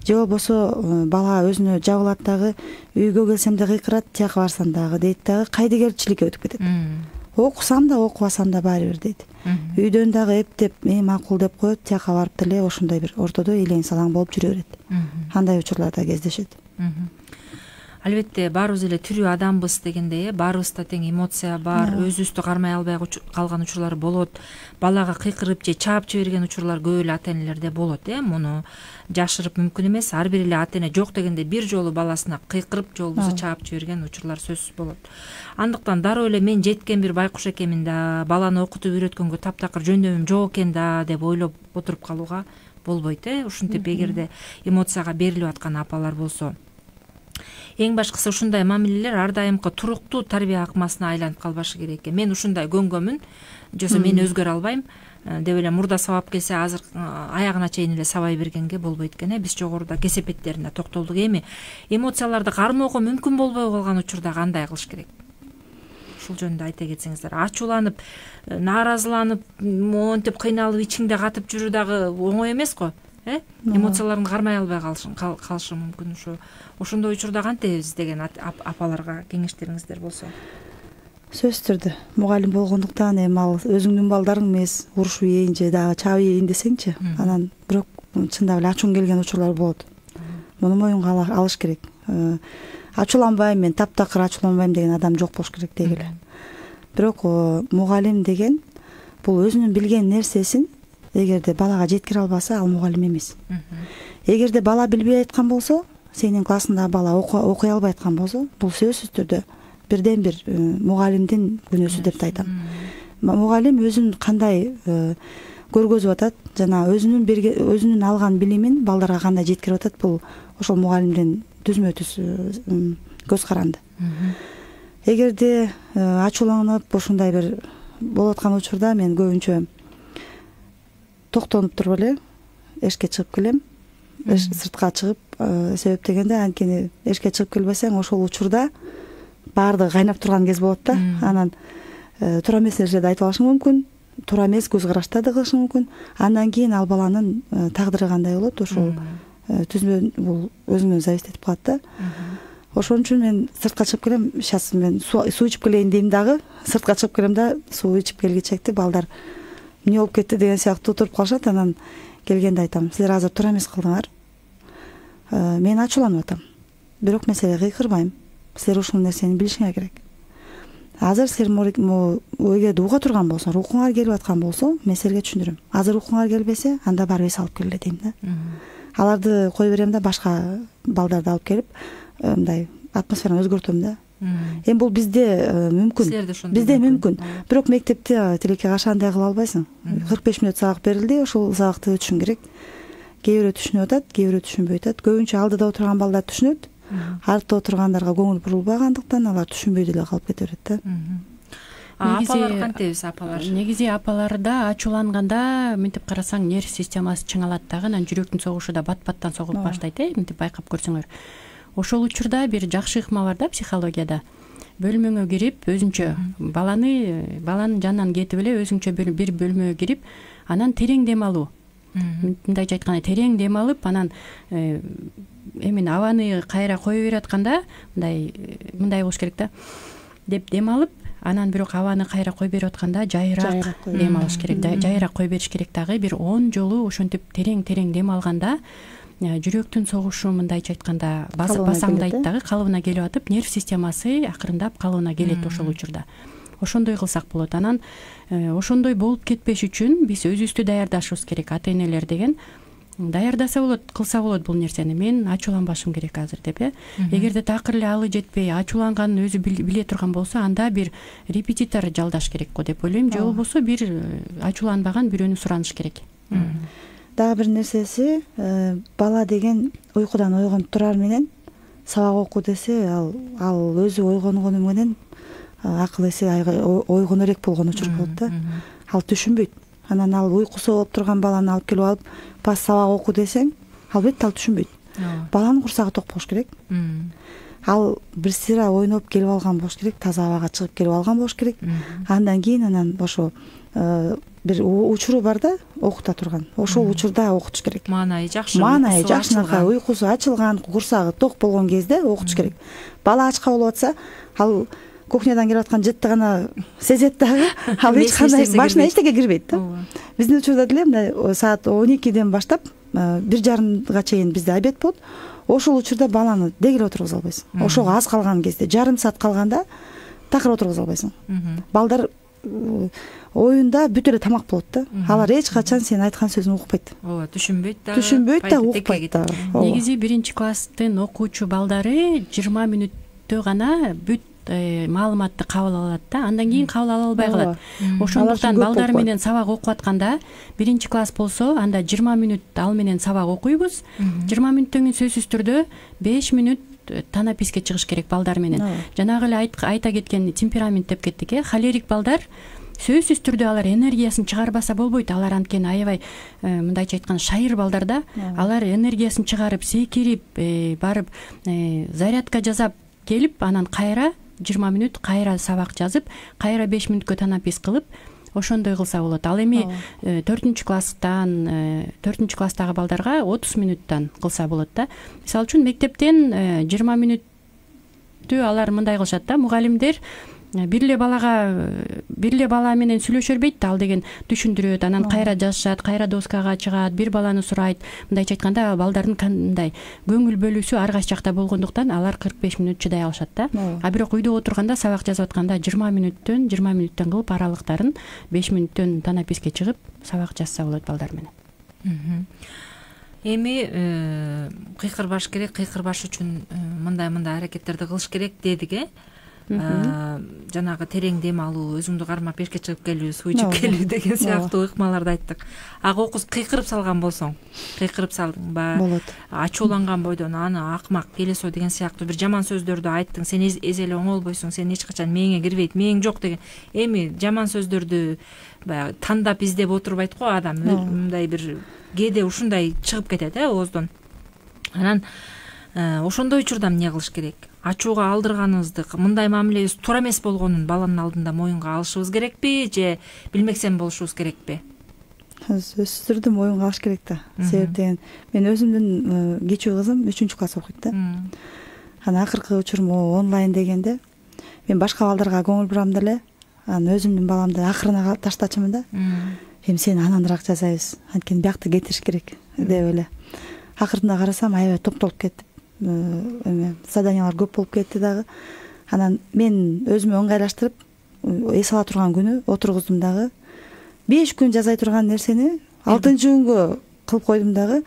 S1: Же болбосо бала өзүнө жабылат, дагы үйгө келсем да кыйкырат, тияка барсам дагы дейт, дагы кайдыгерчиликке өтүп кетет. Окусам да окубасам да баары бир дейт. Үйдөн дагы эптеп, "Э, макул" деп коет, тияка барып деле ошондой бир ортодо элең салаң болуп жүрө берет. Андай учурлар да кездешет.
S4: Албетте баарыбыз эле тирүү адамбыз дегендей, э баарыбызда тең эмоция бар, өзүбүздү кармай албай калган учурлар болот. Балага кыйкырып же чаап жиберген учурлар көп эле ата энелерде болот, э муну жашырып мүмкүн эмес. Ар бир эле ата эне жок дегенде бир жолу баласына кыйкырып же болбосо чаап жиберген учурлар сөзсүз болот. Андыктан дароо эле мен жеткен бир байкуш экенмин да, баланы окутуп үйрөткөнгө таптакыр жөндөмүм жок экен да деп ойлоп отуруп калууга болбойт, э ушинтип эгерде эмоцияга берилип аткан апалар болсо. Эң башкысы ушундай мамилелер ар дайымкы туруктуу тарбия акмасына айланып калбашы керек экен. Мен ушундай көнгөнмүн, жосо мен өзгөрө албайм деп эле мурда сабап келсе, азыр аягына чейин эле сабай бергенге болбойт экен, э биз жогоруда кесепеттерине токтолдук. Эми эмоцияларды кармоого мүмкүн болбой калган учурда кандай кылыш керек? Ушул жөнүндө айта кетсеңиздер. Ачууланып, нааразыланып, монтип кыйналып ичиңде катып жүрүү дагы оңой эмес го. Э эмоцияларын кармай албай калышы мүмкүн. Ошо ошондой учурда кантебиз деген апаларга кеңештериңиздер болсо?
S1: Сөзсүз түрдө мугалим болгондуктан эми ал өзүңдүн балдарың эмес, урушуп ийин же дагы чаап ийин десеңчи, анан бирок чындап эле ачууң келген учурлар болот. Муну моюнга алыш керек. Ачууланбайм, мен таптакыр ачууланбайм деген адам жок болуш керек деги эле. Бирок мугалим деген бул өзүнүн билген нерсесин эгерде балага жеткире албаса, ал мугалим эмес. Эгерде бала билбей айткан болсо, сенин классыңдагы бала окуй албай айткан болсо, бул сөзсүз түрдө бирден бир мугалимдин күнөөсү деп айтам. Мугалим өзүн кандай көргөзүп атат, жана өзүнүн өзүнүн алган билимин балдарга кандай жеткирип атат, бул ошол мугалимдин түзмө түз көз каранды. Эгерде ачууланып ошондой бир болуп аткан учурда мен көбүнчө токтонуп туруп эле эшикке чыгып келем. Сыртка чыгып, себеп дегенде анткени эшикке чыгып келбесең, ошол учурда баардыгы кайнап турган кез болот да. Анан туура эмес нерселерди айтып алышың мүмкүн, туура эмес көз караштарды кылышың мүмкүн. Андан кийин ал баланын тагдыры кандай болот, ошол түзмө бул өзүнөн зависит этип калат да. Ошон үчүн мен сыртка чыгып келем, сейчас мен суу ичип келейин дейм дагы, сыртка чыгып келем да, суу ичип келгичекти балдар эмне болуп кетти деген сыяктуу туруп калышат. Анан келгенде айтам, силер азыр туура эмес кылдыңар. Мен ачууланып атам. Бирок мен силерге кыйкырбайм. Силер ушул нерсени билишиңер керек. Азыр силер эгерде уга турган болсоңор, укуңар келип аткан болсо, мен силерге түшүндүрөм. Азыр укуңар келбесе, анда барып эс алып келе дейм да. Аларды кое берем да, башка балдарды алып келип, мындай атмосфераны өзгөртөм да. Эми бул бизде мүмкүн. Бизде мүмкүн. Бирок мектепте тилекке каршы андай кыла албайсың. кырк беш мүнөт сабак берилди, ошол сабакты өтүшүң керек. Кээ бирөө түшүнүп атат, кээ бирөө түшүнбөй атат. Көбүнчө алдыда отурган балдар түшүнөт. Артта отургандарга көңүл бурулбагандыктан алар түшүнбөй деле калып кете берет да.
S4: Апалар кантебиз, апалар?
S5: Негизи апаларда ачууланганда мынтип карасаң нерв системасы чыңалат дагы, анан жүрөктүн согушу да бат-баттан согуп баштайт, э, мынтип байкап көрсөңөр. Ошол учурда бир жакшы ыкма бар да психологияда. Бөлмөңө кирип, өзүнчө баланы баланын жанынан кетип эле өзүңчө бир бөлмөгө кирип, анан терең дем алуу. мындайча айтканда терең дем алып, анан эми абаны кайра кое берип атканда мындай мындай болуш керек да деп дем алып, анан бирок абаны кайра кое берип атканда жайыраак дем алыш керек, жайыраак кое бериш керек дагы. Бир он жолу ошентип терең-терең дем алганда жүрөктүн согушу мындайча айтканда басаңдайт дагы, калыбына келип атып, нерв системасы акырындап калыбына келет ошол учурда. Ошондой кылсак болот. Анан ошондой болуп кетпеш үчүн биз өзүбүздү даярдашыбыз керек. Ата-энелер деген даярдаса болот, кылса болот бул нерсени. Мен ачууланбашым керек азыр деп, э. Эгерде такыр эле алы жетпей, ачууланганын өзү биле турган болсо, анда бир репетитор жалдаш керек го деп ойлойм. Же болбосо бир ачууланбаган бирөөнү сураныш керек.
S1: Дагы бир нерсеси, бала деген уйкудан ойгонуп турар менен сабак оку десе, ал ал өзү ойгонгону менен акыл эси ойгоно элек болгон учур болот да. Ал түшүнбөйт. Анан ал уйкусу болуп турган баланы алып келип алып, бас сабак оку десең, албетте ал түшүнбөйт. Баланын курсагы ток болуш керек. Ал бир сыйра ойноп келип алган болуш керек, таза абага чыгып келип алган болуш керек. Андан кийин анан ошо бир учуру бар да, окута турган. Ошол учурда окутуш керек.
S4: Маанайы жакшы.
S1: Маанайы жакшынакай, уйкусу ачылган, курсагы ток болгон кезде окутуш керек. Бала ачка болуп атса, ал кухнядан келип аткан жытты гана сезет дагы, ал эч кандай башына эчтеке кирбейт да. Биздин учурда деле мына саат он экиден баштап бир жарымга чейин бизде обед болот. Ошол учурда баланы дегеле отургуза албайсың. Ошого аз калган кезде, жарым саат калганда такыр отургуза албайсың. Балдар оюнда бүт эле тамак болот да. Алар эч качан сен айткан сөзүн укпайт.
S4: Ооба, түшүнбөйт да.
S1: Түшүнбөйт да, укпайт да.
S5: Негизи биринчи класстын окуучу балдары жыйырма мүнөттө гана бүт маалыматты кабыл алат да, андан кийин кабыл ала албай калат. Ошондуктан балдар менен сабак окуп атканда, биринчи класс болсо, анда жыйырма мүнөт ал менен сабак окуйбуз. жыйырма мүнөттөн кийин сөзсүз түрдө беш мүнөт танаписке чыгыш керек балдар менен. Жанагы эле айта кеткен темперамент деп кеттик, э. Холерик балдар сөзсүз түрдө алар энергиясын чыгарбаса болбойт. Алар анткени аябай мындайча айтканда шайыр балдар да. Алар энергиясын чыгарып, секирип, барып зарядка жасап келип, анан кайра жыйырма мүнөт кайра сабак жазып, кайра беш мүнөткө танапис кылып, ошондой кылса болот. Ал эми төртүнчү класстан, төртүнчү класстагы балдарга отуз мүнөттөн кылса болот да. Мисалы үчүн мектептен жыйырма мүнөттү алар мындай кылышат да, мугалимдер бир эле балага бир эле бала менен сүйлөшө бербейт да, ал деген түшүндүрөт, анан кайра жазышат, кайра доскага чыгат, бир баланы сурайт. Мындайча айтканда балдардын кандай көңүл бөлүүсү ар кайсы жакта болгондуктан алар кырк беш мүнөт чыдай алышат да. А бирок үйдө отурганда сабак жазып атканда жыйырма мүнөттөн жыйырма мүнөттөн кылып аралыктарын беш мүнөттөн танаписке чыгып сабак жазса болот балдар менен.
S4: Эми кыйкырбаш керек, кыйкырбаш үчүн мындай-мындай аракеттерди кылыш керек дедик, э. Жанагы терең дем алуу, өзүңдү кармап эшикке чыгып келүү, суу ичип келүү деген сыяктуу ыкмаларды айттык. Ага окуз кыйкырып салган болсоң, кыйкырып салдыңбы?
S1: Болот.
S4: Ачууланган бойдон аны акмак, келесоо деген сыяктуу бир жаман сөздөрдү айттың, сен эзеле оңолбойсуң, сен эч качан мээңе кирбейт, мээң жок деген. Эми жаман сөздөрдү баягы тандап издеп отурбайт го адам. Мындай бир кээде ушундай чыгып кетет, э, ооздон. Анан ошондой учурда эмне кылыш керек? Ачууга алдырганыбызды, мындай мамилебиз туура эмес болгонун баланын алдында моюнга алышыбыз керекпи, же билмексен болушубуз керекпи?
S1: Сөзсүз түрдө моюнга алыш керек да. Себеп деген мен өзүмдүн кичүү кызым үчүнчү класс окуйт да. Анан акыркы учурум онлайн дегенде мен башка балдарга көңүл бурам деле, анан өзүмдүн баламды акырына таштачумун да. Эми сени анандыраак жасайбыз, анткени биякты кетириш керек деп эле. Акырында карасам аябай топтолуп кетип, эме заданиялар көп болуп кетти дагы. Анан мен өзүмө ыңгайлаштырып, эс ала турган күнү отургуздум дагы. беш күн жазай турган нерсени алтынчы күнгө кылып койдум дагы.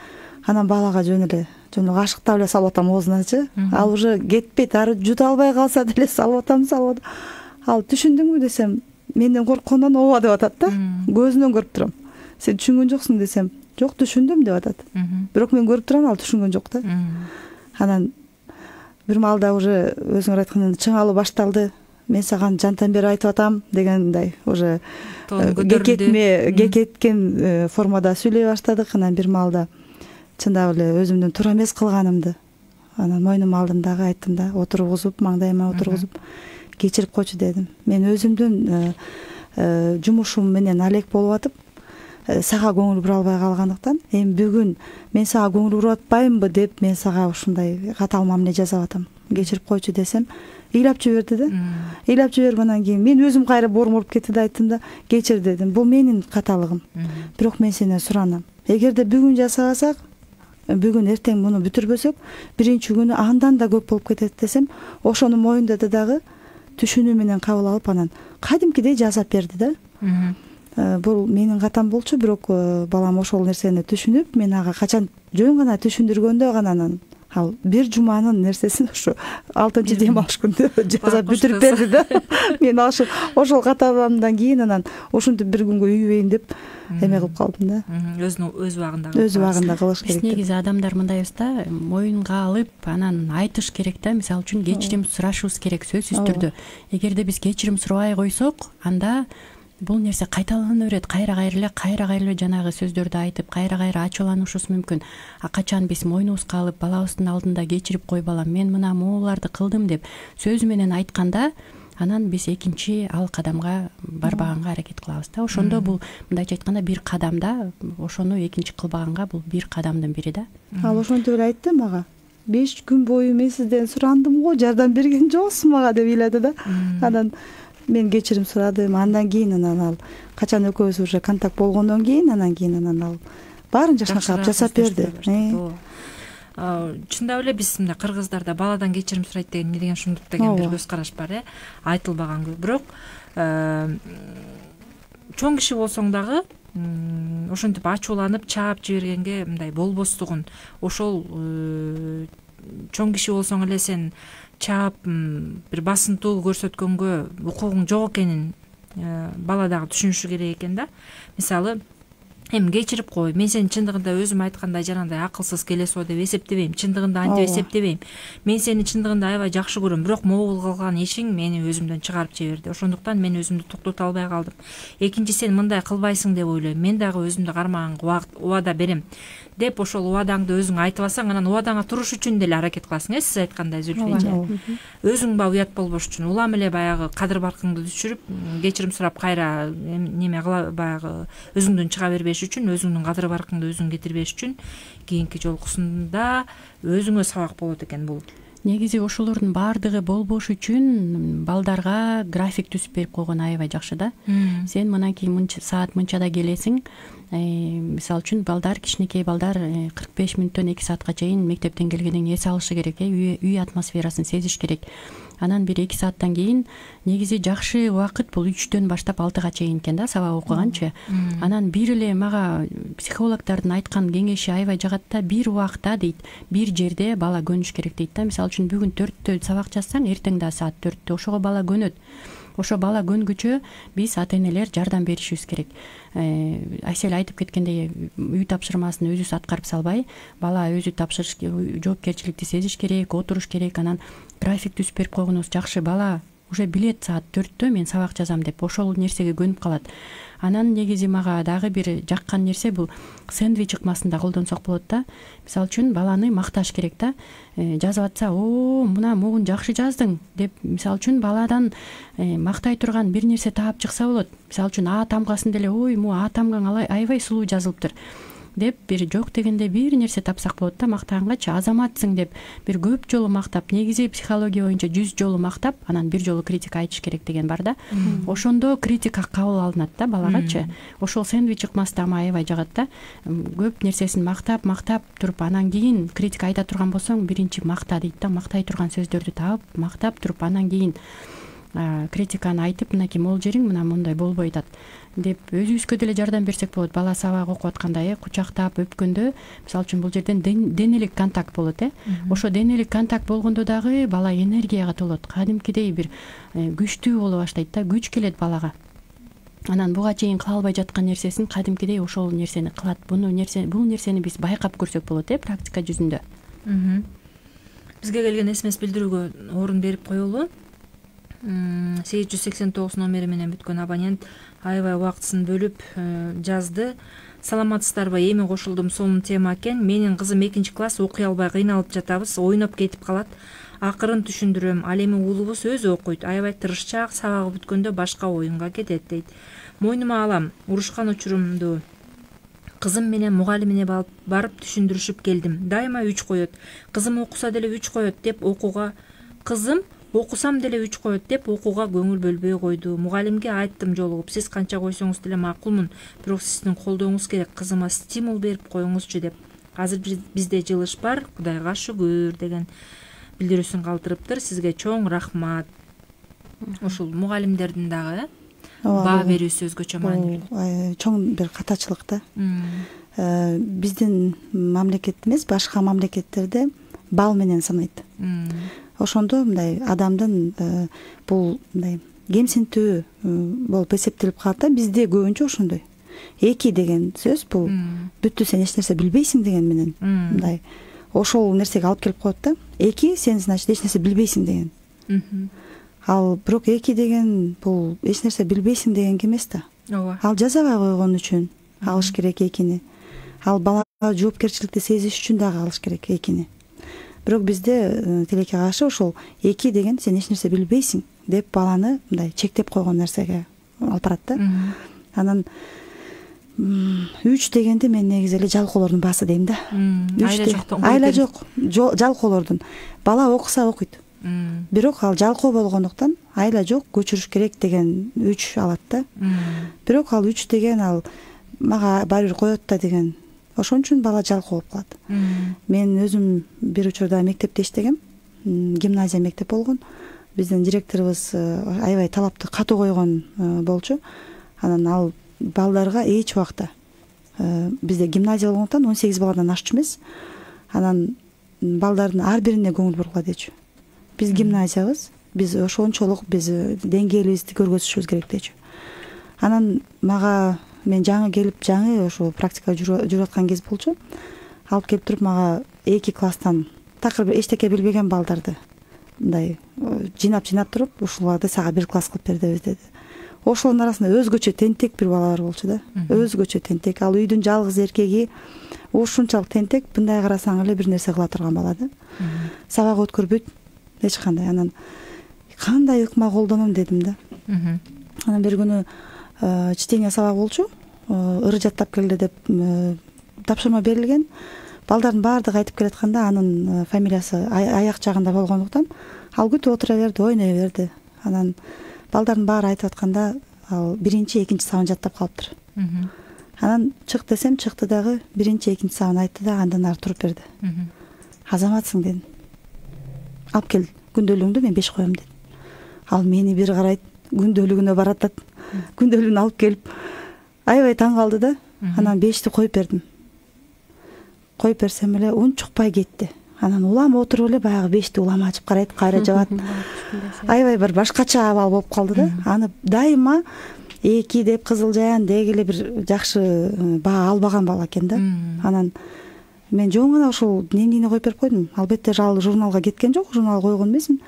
S1: Анан балага жөн эле, жөн эле кашыктап эле салып атам оозуначы. Ал уже кетпейт, ары жута албай калса деле салып атам, салып атам. Ал түшүндүңбү десем, менден корккондон ооба деп атат да. Көзүнөн көрүп турам. Сен түшүнгөн жоксуң десем, жок түшүндүм деп атат. Бирок мен көрүп турам, ал түшүнгөн жок да. Анан бир маалда уже өзүңөр айткандай чыңалуу башталды. Мен саган жантан бери айтып атам дегендей уже кекетме кекеткен формада сүйлөй баштадык. Анан бир маалда чындап эле өзүмдүн туура эмес кылганымды анан мойнума алдым дагы, айттым да, отургузуп, маңдайыма отургузуп, кечирип койчу дедим. Мен өзүмдүн жумушум менен алек болуп атып, сага көңүл бура албай калгандыктан эми бүгүн мен сага көңүл буруп атпаймынбы деп мен сага ушундай катаал мамиле жасап атам, кечирип койчу десем ыйлап жиберди да. Ыйлап жиберип анан кийин мен өзүм кайра боорум уруп кетти да, айттым да кечир дедим, бул менин каталыгым, бирок мен сенден суранам, эгерде бүгүн жасабасак, бүгүн эртең муну бүтүрбөсөк биринчи күнү андан да көп болуп кетет десем, ошону моюндады дагы түшүнүү менен кабыл алып анан кадимкидей жасап берди да. Бул менин катам болчу, бирок балам ошол нерсени түшүнүп, мен ага качан жөн гана түшүндүргөндө гана анан ал бир жуманын нерсесин ошо алтынчы дем алыш күндө жасап бүтүрүп берди да. Мен ошол ошол каталгандан кийин анан ушинтип бир күнгө үйбөйүн деп эме кылып калдым да.
S4: Өзүнүн өз убагында
S1: өз убагында кылыш керек.
S5: Биз негизи адамдар мындайбыз да, моюнга алып анан айтыш керек да, мисалы үчүн кечирим сурашыбыз керек сөзсүз түрдө. Эгерде биз кечирим сурабай койсок, анда бул нерсе кайталана берет, кайра кайра эле кайра кайра эле жанагы сөздөрдү айтып, кайра кайра ачууланышыбыз мүмкүн. А качан биз мойнубузга алып балабыздын алдында кечирип кой балам, мен мына могуларды кылдым деп сөзү менен айтканда, анан биз экинчи ал кадамга барбаганга аракет кылабыз да. Ошондо бул мындайча айтканда бир кадам да, ошону экинчи кылбаганга бул бир кадамдын бири да.
S1: Ал ошентип эле айтты мага. беш күн бою мен сизден сурандым го, жардам берген жоксуз мага деп ыйлады да. Анан мен кечирим сурадым, андан кийин анан ал качан экөөбүз уже контакт болгондон кийин анан кийин анан ал баарын жакшыраак жасап берди.
S4: Чындап эле биз мындай кыргыздарда баладан кечирим сурайт деген эмне деген ушундук деген бир көз караш бар, э, айтылбаган. Бирок чоң киши болсоң дагы ошентип ачууланып чаап жибергенге мындай болбостугун, ошол чоң киши болсоң эле сен чаап бир басынтуу көрсөткөнгө укугуң жок экенин бала дагы түшүнүшү керек экен да. Мисалы, эми кечирип кой, мен сени чындыгында өзүм айткандай жанагындай акылсыз келесоо деп эсептебейм, чындыгында антип эсептебейм. Мен сени чындыгында аябай жакшы көрөм, бирок могул кылган ишиң мени өзүмдөн чыгарып жиберди. Ошондуктан мен өзүмдү токтото албай калдым. Экинчи, сен мындай кылбайсың деп ойлойм, мен дагы өзүмдү кармаганга убада берем деп ошол убадаңды өзүң айтып алсаң, анан убадаңа туруш үчүн деле аракет кыласың, э, сиз айткандай Зүлфия. Өзүң ба уят болбош үчүн улам эле баягы кадыр баркыңды түшүрүп, кечирим сурап кайра неме кыла баягы өзүңдөн чыга бербеш үчүн, өзүңдүн кадыр баркыңды өзүң кетирбеш үчүн кийинки жолкусунда өзүңө сабак болот экен бул.
S5: Негизи ошолордун баардыгы болбош үчүн балдарга график түзүп берип койгон аябай жакшы да. Сен мынакей мынча саат мынчада келесиң. Мисалы үчүн балдар, кичинекей балдар кырк беш мүнөттөн эки саатка чейин мектептен келгенден кийин эс алышы керек, үй атмосферасын сезиш керек. Анан бир эки сааттан кийин негизи жакшы убакыт бул үчтөн баштап алтыга чейин экен да, сабак окуганчы. Анан бир эле мага психологдордун айткан кеңеши аябай жагат да, бир убакта дейт, бир жерде бала көнүш керек дейт да. Мисалы үчүн бүгүн төрттө сабак жазсаң, эртең да саат төрттө ошого бала көнөт. Ошо бала көнгүчө биз ата-энелер жардам беришибиз керек. Айсел айтып кеткендей, үй тапшырмасын өзүбүз аткарып салбай, бала өзү тапшырыш, жоопкерчиликти сезиш керек, отуруш керек. Анан график түзүп берип койгонубуз жакшы. Бала уже билет саат төрттө мен сабак жазам деп ошол нерсеге көнүп калат. Анан негизи мага дагы бир жаккан нерсе бул сэндвич ыкмасын да колдонсок болот да. Мисалы үчүн баланы макташ керек да. Жазып атса, "О, мына могун жакшы жаздың" деп мисалы үчүн баладан мактай турган бир нерсе таап чыкса болот. Мисалы үчүн А тамгасын деле, "Ой, му А тамгаң аябай сулуу жазылыптыр" деп бир жок дегенде бир нерсе тапсак болот да, мактагангачы. "Азаматсың" деп бир көп жолу мактап, негизи психология боюнча жүз жолу мактап, анан бир жолу критика айтыш керек деген бар да. Ошондо критика кабыл алынат да балагачы. Ошол сэндвич ыкмасы да аябай жагат да. Көп нерсесин мактап, мактап туруп, анан кийин критика айта турган болсоң, биринчи макта дейт да, мактай турган сөздөрдү таап, мактап туруп, анан кийин критиканы айтып, мынакей могул жериң мына мындай болбой атат деп өзүбүзгө деле жардам берсек болот. Бала сабак окуп атканда э кучактап өпкөндө, мисалы үчүн бул жерден денелик контакт болот, э. Ошо денелик контакт болгондо дагы бала энергияга толот. Кадимкидей бир күчтүү боло баштайт да, күч келет балага. Анан буга чейин кыла албай жаткан нерсесин кадимкидей ошол нерсени кылат. Буну нерсе, бул нерсени биз байкап көрсөк болот, э, практика жүзүндө.
S4: Бизге келген эс эм эс билдирүүгө орун берип коелу. сегиз жүз сексен тогуз номери менен бүткөн абонент аябай убактысын бөлүп жазды. Саламатсыздарбы? Эми кошулдум, сонун тема экен. Менин кызым экинчи класс, окуй албай кыйналып жатабыз, ойноп кетип калат. Акырын түшүндүрөм. Ал эми уулубуз өзү окуйт, аябай тырышчаак, сабагы бүткөндө башка оюнга кетет дейт. Мойнума алам, урушкан учурумду кызым менен мугалимине барып түшүндүрүшүп келдим. Дайыма үч коет. Кызым окуса деле үч коет деп окууга кызым окусам деле үч коет деп окууга көңүл бөлбөй койду. Мугалимге айттым жолугуп, сиз канча койсоңуз деле макулмун, бирок сиздин колдооңуз керек, кызыма стимул берип коюңузчу деп. Азыр бизде жылыш бар, Кудайга шүгүр деген билдирүүсүн калтырыптыр. Сизге чоң рахмат. Ушул мугалимдердин дагы баа берүүсү өзгөчө маанилүү.
S1: Чоң бир катачылык да. Биздин мамлекет эмес, башка мамлекеттерде бал менен санайт. Ошондо мындай адамдын бул мындай кемсинтүү болуп эсептелип калат да. Бизде көбүнчө ошондой. Эки деген сөз бул бүттү, сен эч нерсе билбейсиң деген менен мындай ошол нерсеге алып келип коет да. Эки сен значит эч нерсе билбейсиң деген. Ал бирок эки деген бул эч нерсе билбейсиң дегенге эмес да.
S4: Ооба.
S1: Ал жазабай койгон үчүн алыш керек экини. Ал балага жоопкерчиликти сезиш үчүн дагы алыш керек экини. Бирок бизде тилекке каршы ошол эки деген сен эч нерсе билбейсиң деп баланы мындай чектеп койгон нерсеге алып барат да. Анан үч дегенде мен негизи эле жалкоолордун баасы дейм да.
S4: Айла жоктон.
S1: Айла жок, жалкоолордун. Бала окуса окуйт. Бирок ал жалкоо болгондуктан айла жок, көчүрүш керек деген үч алат да. Бирок ал үч деген ал мага баары бир коет да деген. Ошон үчүн бала жалкоо болуп калат. Мен өзүм бир учурда мектепте иштегем. Гимназия мектеп болгон. Биздин директорубуз аябай талапты катуу койгон болчу. Анан ал балдарга эч убакта бизде гимназия болгондуктан он сегиз баладан ашчу эмес. Анан балдардын ар бирине көңүл бургула дечү. Биз гимназиябыз, биз ошончолук биз деңгээлибизди көргөзүшүбүз керек дечү. Анан мага мен жаңы келип, жаңы ошо практикага жүрүп аткан кез болчу. Алып келип туруп мага эки класстан такыр эчтеке билбеген балдарды мындай жыйнап-жыйнап туруп, ушуларды сага бир класс кылып беребиз деди. Ошолордун арасында өзгөчө тентек бир бала бар болчу да. Өзгөчө тентек. Ал үйдүн жалгыз эркеги ушунчалык тентек, мындай карасаң эле бир нерсе кыла турган бала да. Сабак өткөрбөйт эч кандай. Анан кандай ыкма колдоном дедим да. Анан бир күнү чтение сабак болчу. Ыры жаттап келди деп тапшырма берилген. Балдардын баардыгы айтып келатканда анын фамилиясы аяк жагында болгондуктан ал күтүп отура берди, ойной берди. Анан балдардын баары айтып атканда ал биринчи, экинчи сабын жаттап калыптыр. Анан чык десем чыкты дагы биринчи, экинчи сабын айтты да андан ары туруп берди. Азаматсың дедим. Алып кел күндөлүгүңдү, мен беш коем дедим. Ал мени бир карайт, күндөлүгүнө баратат. Күндөлүгүн алып келип аябай таң калды да. Анан бешти коюп бердим. Коюп берсем эле унчукпай кетти. Анан улам отуруп эле баягы бешти улам ачып карайт, кайра жабат. Аябай бир башкача абал болуп калды да. Аны дайыма эки деп Кызыл Жаян деги эле бир жакшы баа албаган бала экен да. Анан мен жөн гана ошол дневнине коюп берип койдум. Албетте ал журналга кеткен жок, журнал койгон эмесмин.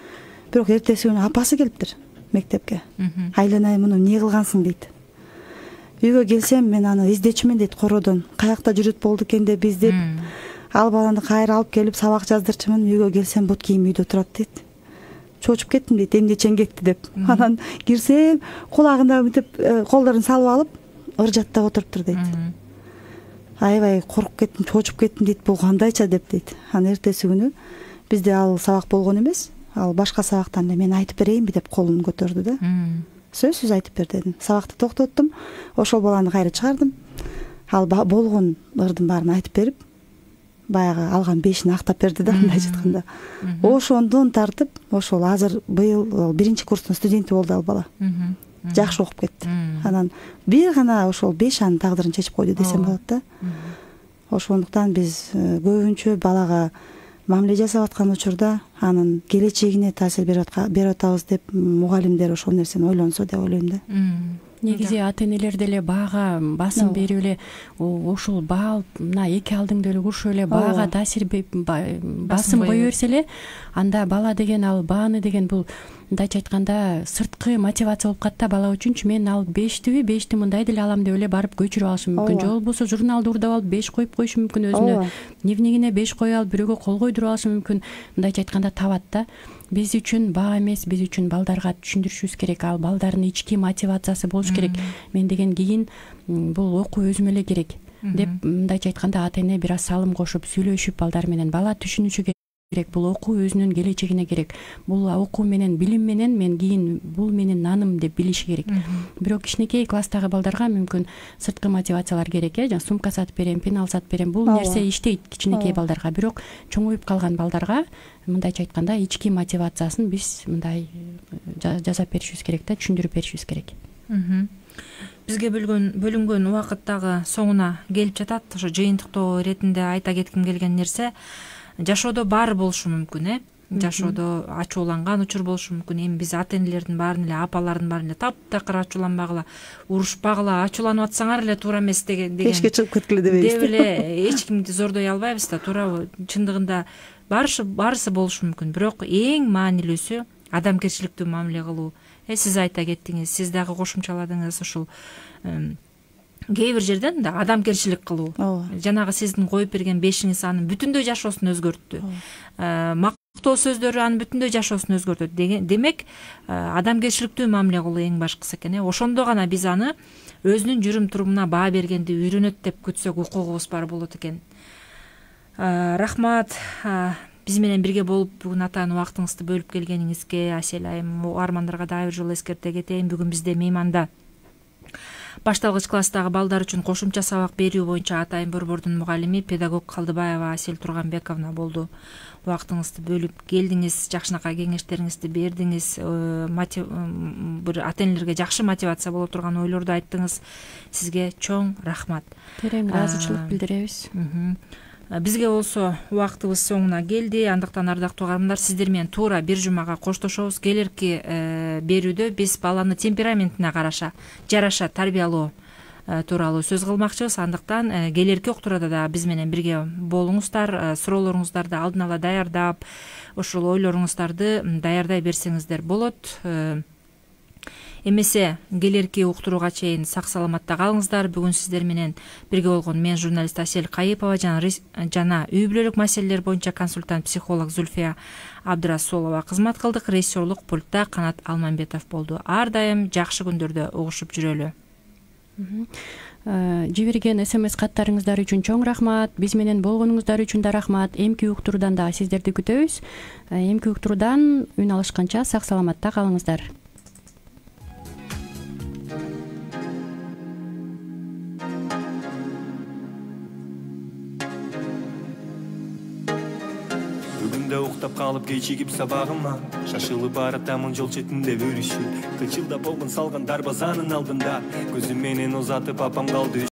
S1: Бирок эртеси күнү апасы келиптир мектепке. Айланай, муну эмне кылгансың дейт. Үйгө келсем мен аны издечүмүн дейт кородон. Каякта жүрүп болду экен деп издеп, ал баланы кайра алып келип сабак жаздырчумун. Үйгө келсем бут кийим үйдө турат дейт. Чочуп кеттим дейт, эмне ченгекти деп. Анан кирсем, кулагына мынтип колдорун салып алып, ыр жаттап отуруптур дейт. Аябай коркуп кеттим, чочуп кеттим дейт, бул кандайча деп дейт. Анан эртеси күнү бизде ал сабак болгон эмес, ал башка сабактан эле мен айтып берейинби деп колун көтөрдү да. Сөзсүз айтып бер дедим. Сабакты токтоттум, ошол баланы кайра чыгардым. Ал болгон ырдын баарын айтып берип, баягы алган бешин актап берди да, мындай жатканда. Ошондон тартып, ошол азыр быйыл биринчи курстун студенти болду ал бала. Жакшы окуп кетти. Анан бир гана ошол беш анын тагдырын чечип койду десем болот да. Ошондуктан биз көбүнчө балага мамиле жасап аткан учурда анын келечегине таасир берип атабыз деп мугалимдер ошол нерсени ойлонсо деп ойлойм да.
S5: Негизи ата энелер деле баага басым берип эле ушул баа мына эки алдыңда эле урушуп эле баага таасир басым кое берсе эле, анда бала деген ал бааны деген бул мындайча айтканда сырткы мотивация болуп калат да бала үчүнчү. Мен ал бештиби бешти мындай деле алам деп эле барып көчүрүп алышы мүмкүн. Же болбосо журналды урдап алып беш коюп коюшу мүмкүн, өзүнө дневнигине беш коюп алып бирөөгө кол койдуруп алышы мүмкүн. Мындайча айтканда табат да. Биз үчүн баа эмес, биз үчүн балдарга түшүндүрүшүбүз керек. Ал балдардын ички мотивациясы болуш керек. Мен деген кийин бул окуу өзүмө эле керек. деп мындайча айтканда ата эне бир аз салым кошуп сүйлөшүп балдар менен бала түшүнүшү керек. Бул окуу өзүнүн келечегине керек. Бул окуу менен билим менен мен кийин бул менин наным деп билиши керек. Бирок кичинекей класстагы балдарга мүмкүн сырткы мотивациялар керек, э, жана сумка сатып берем, пенал сатып берем. Бул нерсе иштейт кичинекей балдарга. Бирок чоңоюп калган балдарга мындайча айтканда ички мотивациясын биз мындай жасап беришибиз керек да, түшүндүрүп беришибиз керек.
S4: Бизге бөлгөн бөлүнгөн убакыт дагы соңуна келип жатат. Ошо жыйынтыктоо иретинде айта кетким келген нерсе, жашоодо баары болушу мүмкүн, э жашоодо ачууланган учур болушу мүмкүн. Эми биз ата энелердин баарын эле, апалардын баарын эле таптакыр ачууланбагыла, урушпагыла, ачууланып атсаңар эле туура эмес деген
S1: пешке чыгып кеткиле дебейбиз
S4: деп эле эч кимди зордой албайбыз да, туурабы? Чындыгында баарысы баарысы болушу мүмкүн. Бирок эң маанилүүсү адамгерчиликтүү мамиле кылуу. Э сиз айта кеттиңиз, сиз дагы кошумчаладыңыз, ушул кээ бир жерден да адамгерчилик кылуу. Жанагы сиздин коюп берген бешиңиз анын бүтүндөй жашоосун өзгөрттү. Мактоо сөздөрү анын бүтүндөй жашоосун өзгөртөт. Демек, адамгерчиликтүү мамиле кылуу эң башкысы экен. Ошондо гана биз аны өзүнүн жүрүм турумуна баа бергенди үйрөнөт деп күтсөк укугубуз бар болот экен. Рахмат. Биз менен бирге болуп бүгүн атайын убактыңызды бөлүп келгениңизге Асель айым, угармандарга дагы бир жолу эскерте кетейин. Бүгүн бизде мейманда башталгыч класстагы балдар үчүн кошумча сабак берүү боюнча Атайын борбордун мугалими педагог Калдыбаева Асель Турганбековна болду. Убактыңызды бөлүп келдиңиз, жакшынакай кеңештериңизди бердиңиз, бир ата энелерге жакшы мотивация боло турган ойлорду айттыңыз. Сизге чоң рахмат.
S5: Терең ыраазычылык билдиребиз.
S4: Бизге болсо убактыбыз соңуна келди. Андыктан ардактуу угармандар, сиздер менен туура бир жумага коштошобуз. Келерки берүүдө биз баланы темпераментине караша, жараша тарбиялоо тууралуу сөз кылмакчыбыз. Андыктан келерки уктурууда да биз менен бирге болуңуздар, суроолоруңуздарды алдын ала даярдап, ошол ойлоруңуздарды даярдай берсеңиздер болот. Эмесе келерки уктурууга чейин сак саламатта калыңыздар. Бүгүн сиздер менен бирге болгон мен журналист Асель Кайыпова жана үй бүлөлүк маселелер боюнча консультант психолог Зульфия Абдрасулова кызмат кылдык. Режиссерлук пультта Канат Алмамбетов болду. Ар дайым жакшы күндөрдө угушуп жүрөлү.
S5: Жиберген смс каттарыңыздар үчүн чоң рахмат. Биз менен болгонуңуздар үчүн да рахмат. Эмки уктуруудан да сиздерди күтөбүз. Эмки уктуруудан үн алышканча сак саламатта калыңыздар.
S8: Уктап калып кечигип сабагыма, шашылып баратамын жол четинде өрүшүп, кычылдап болгон салган дарбазанын алдында, көзүм менен узатып апам калды.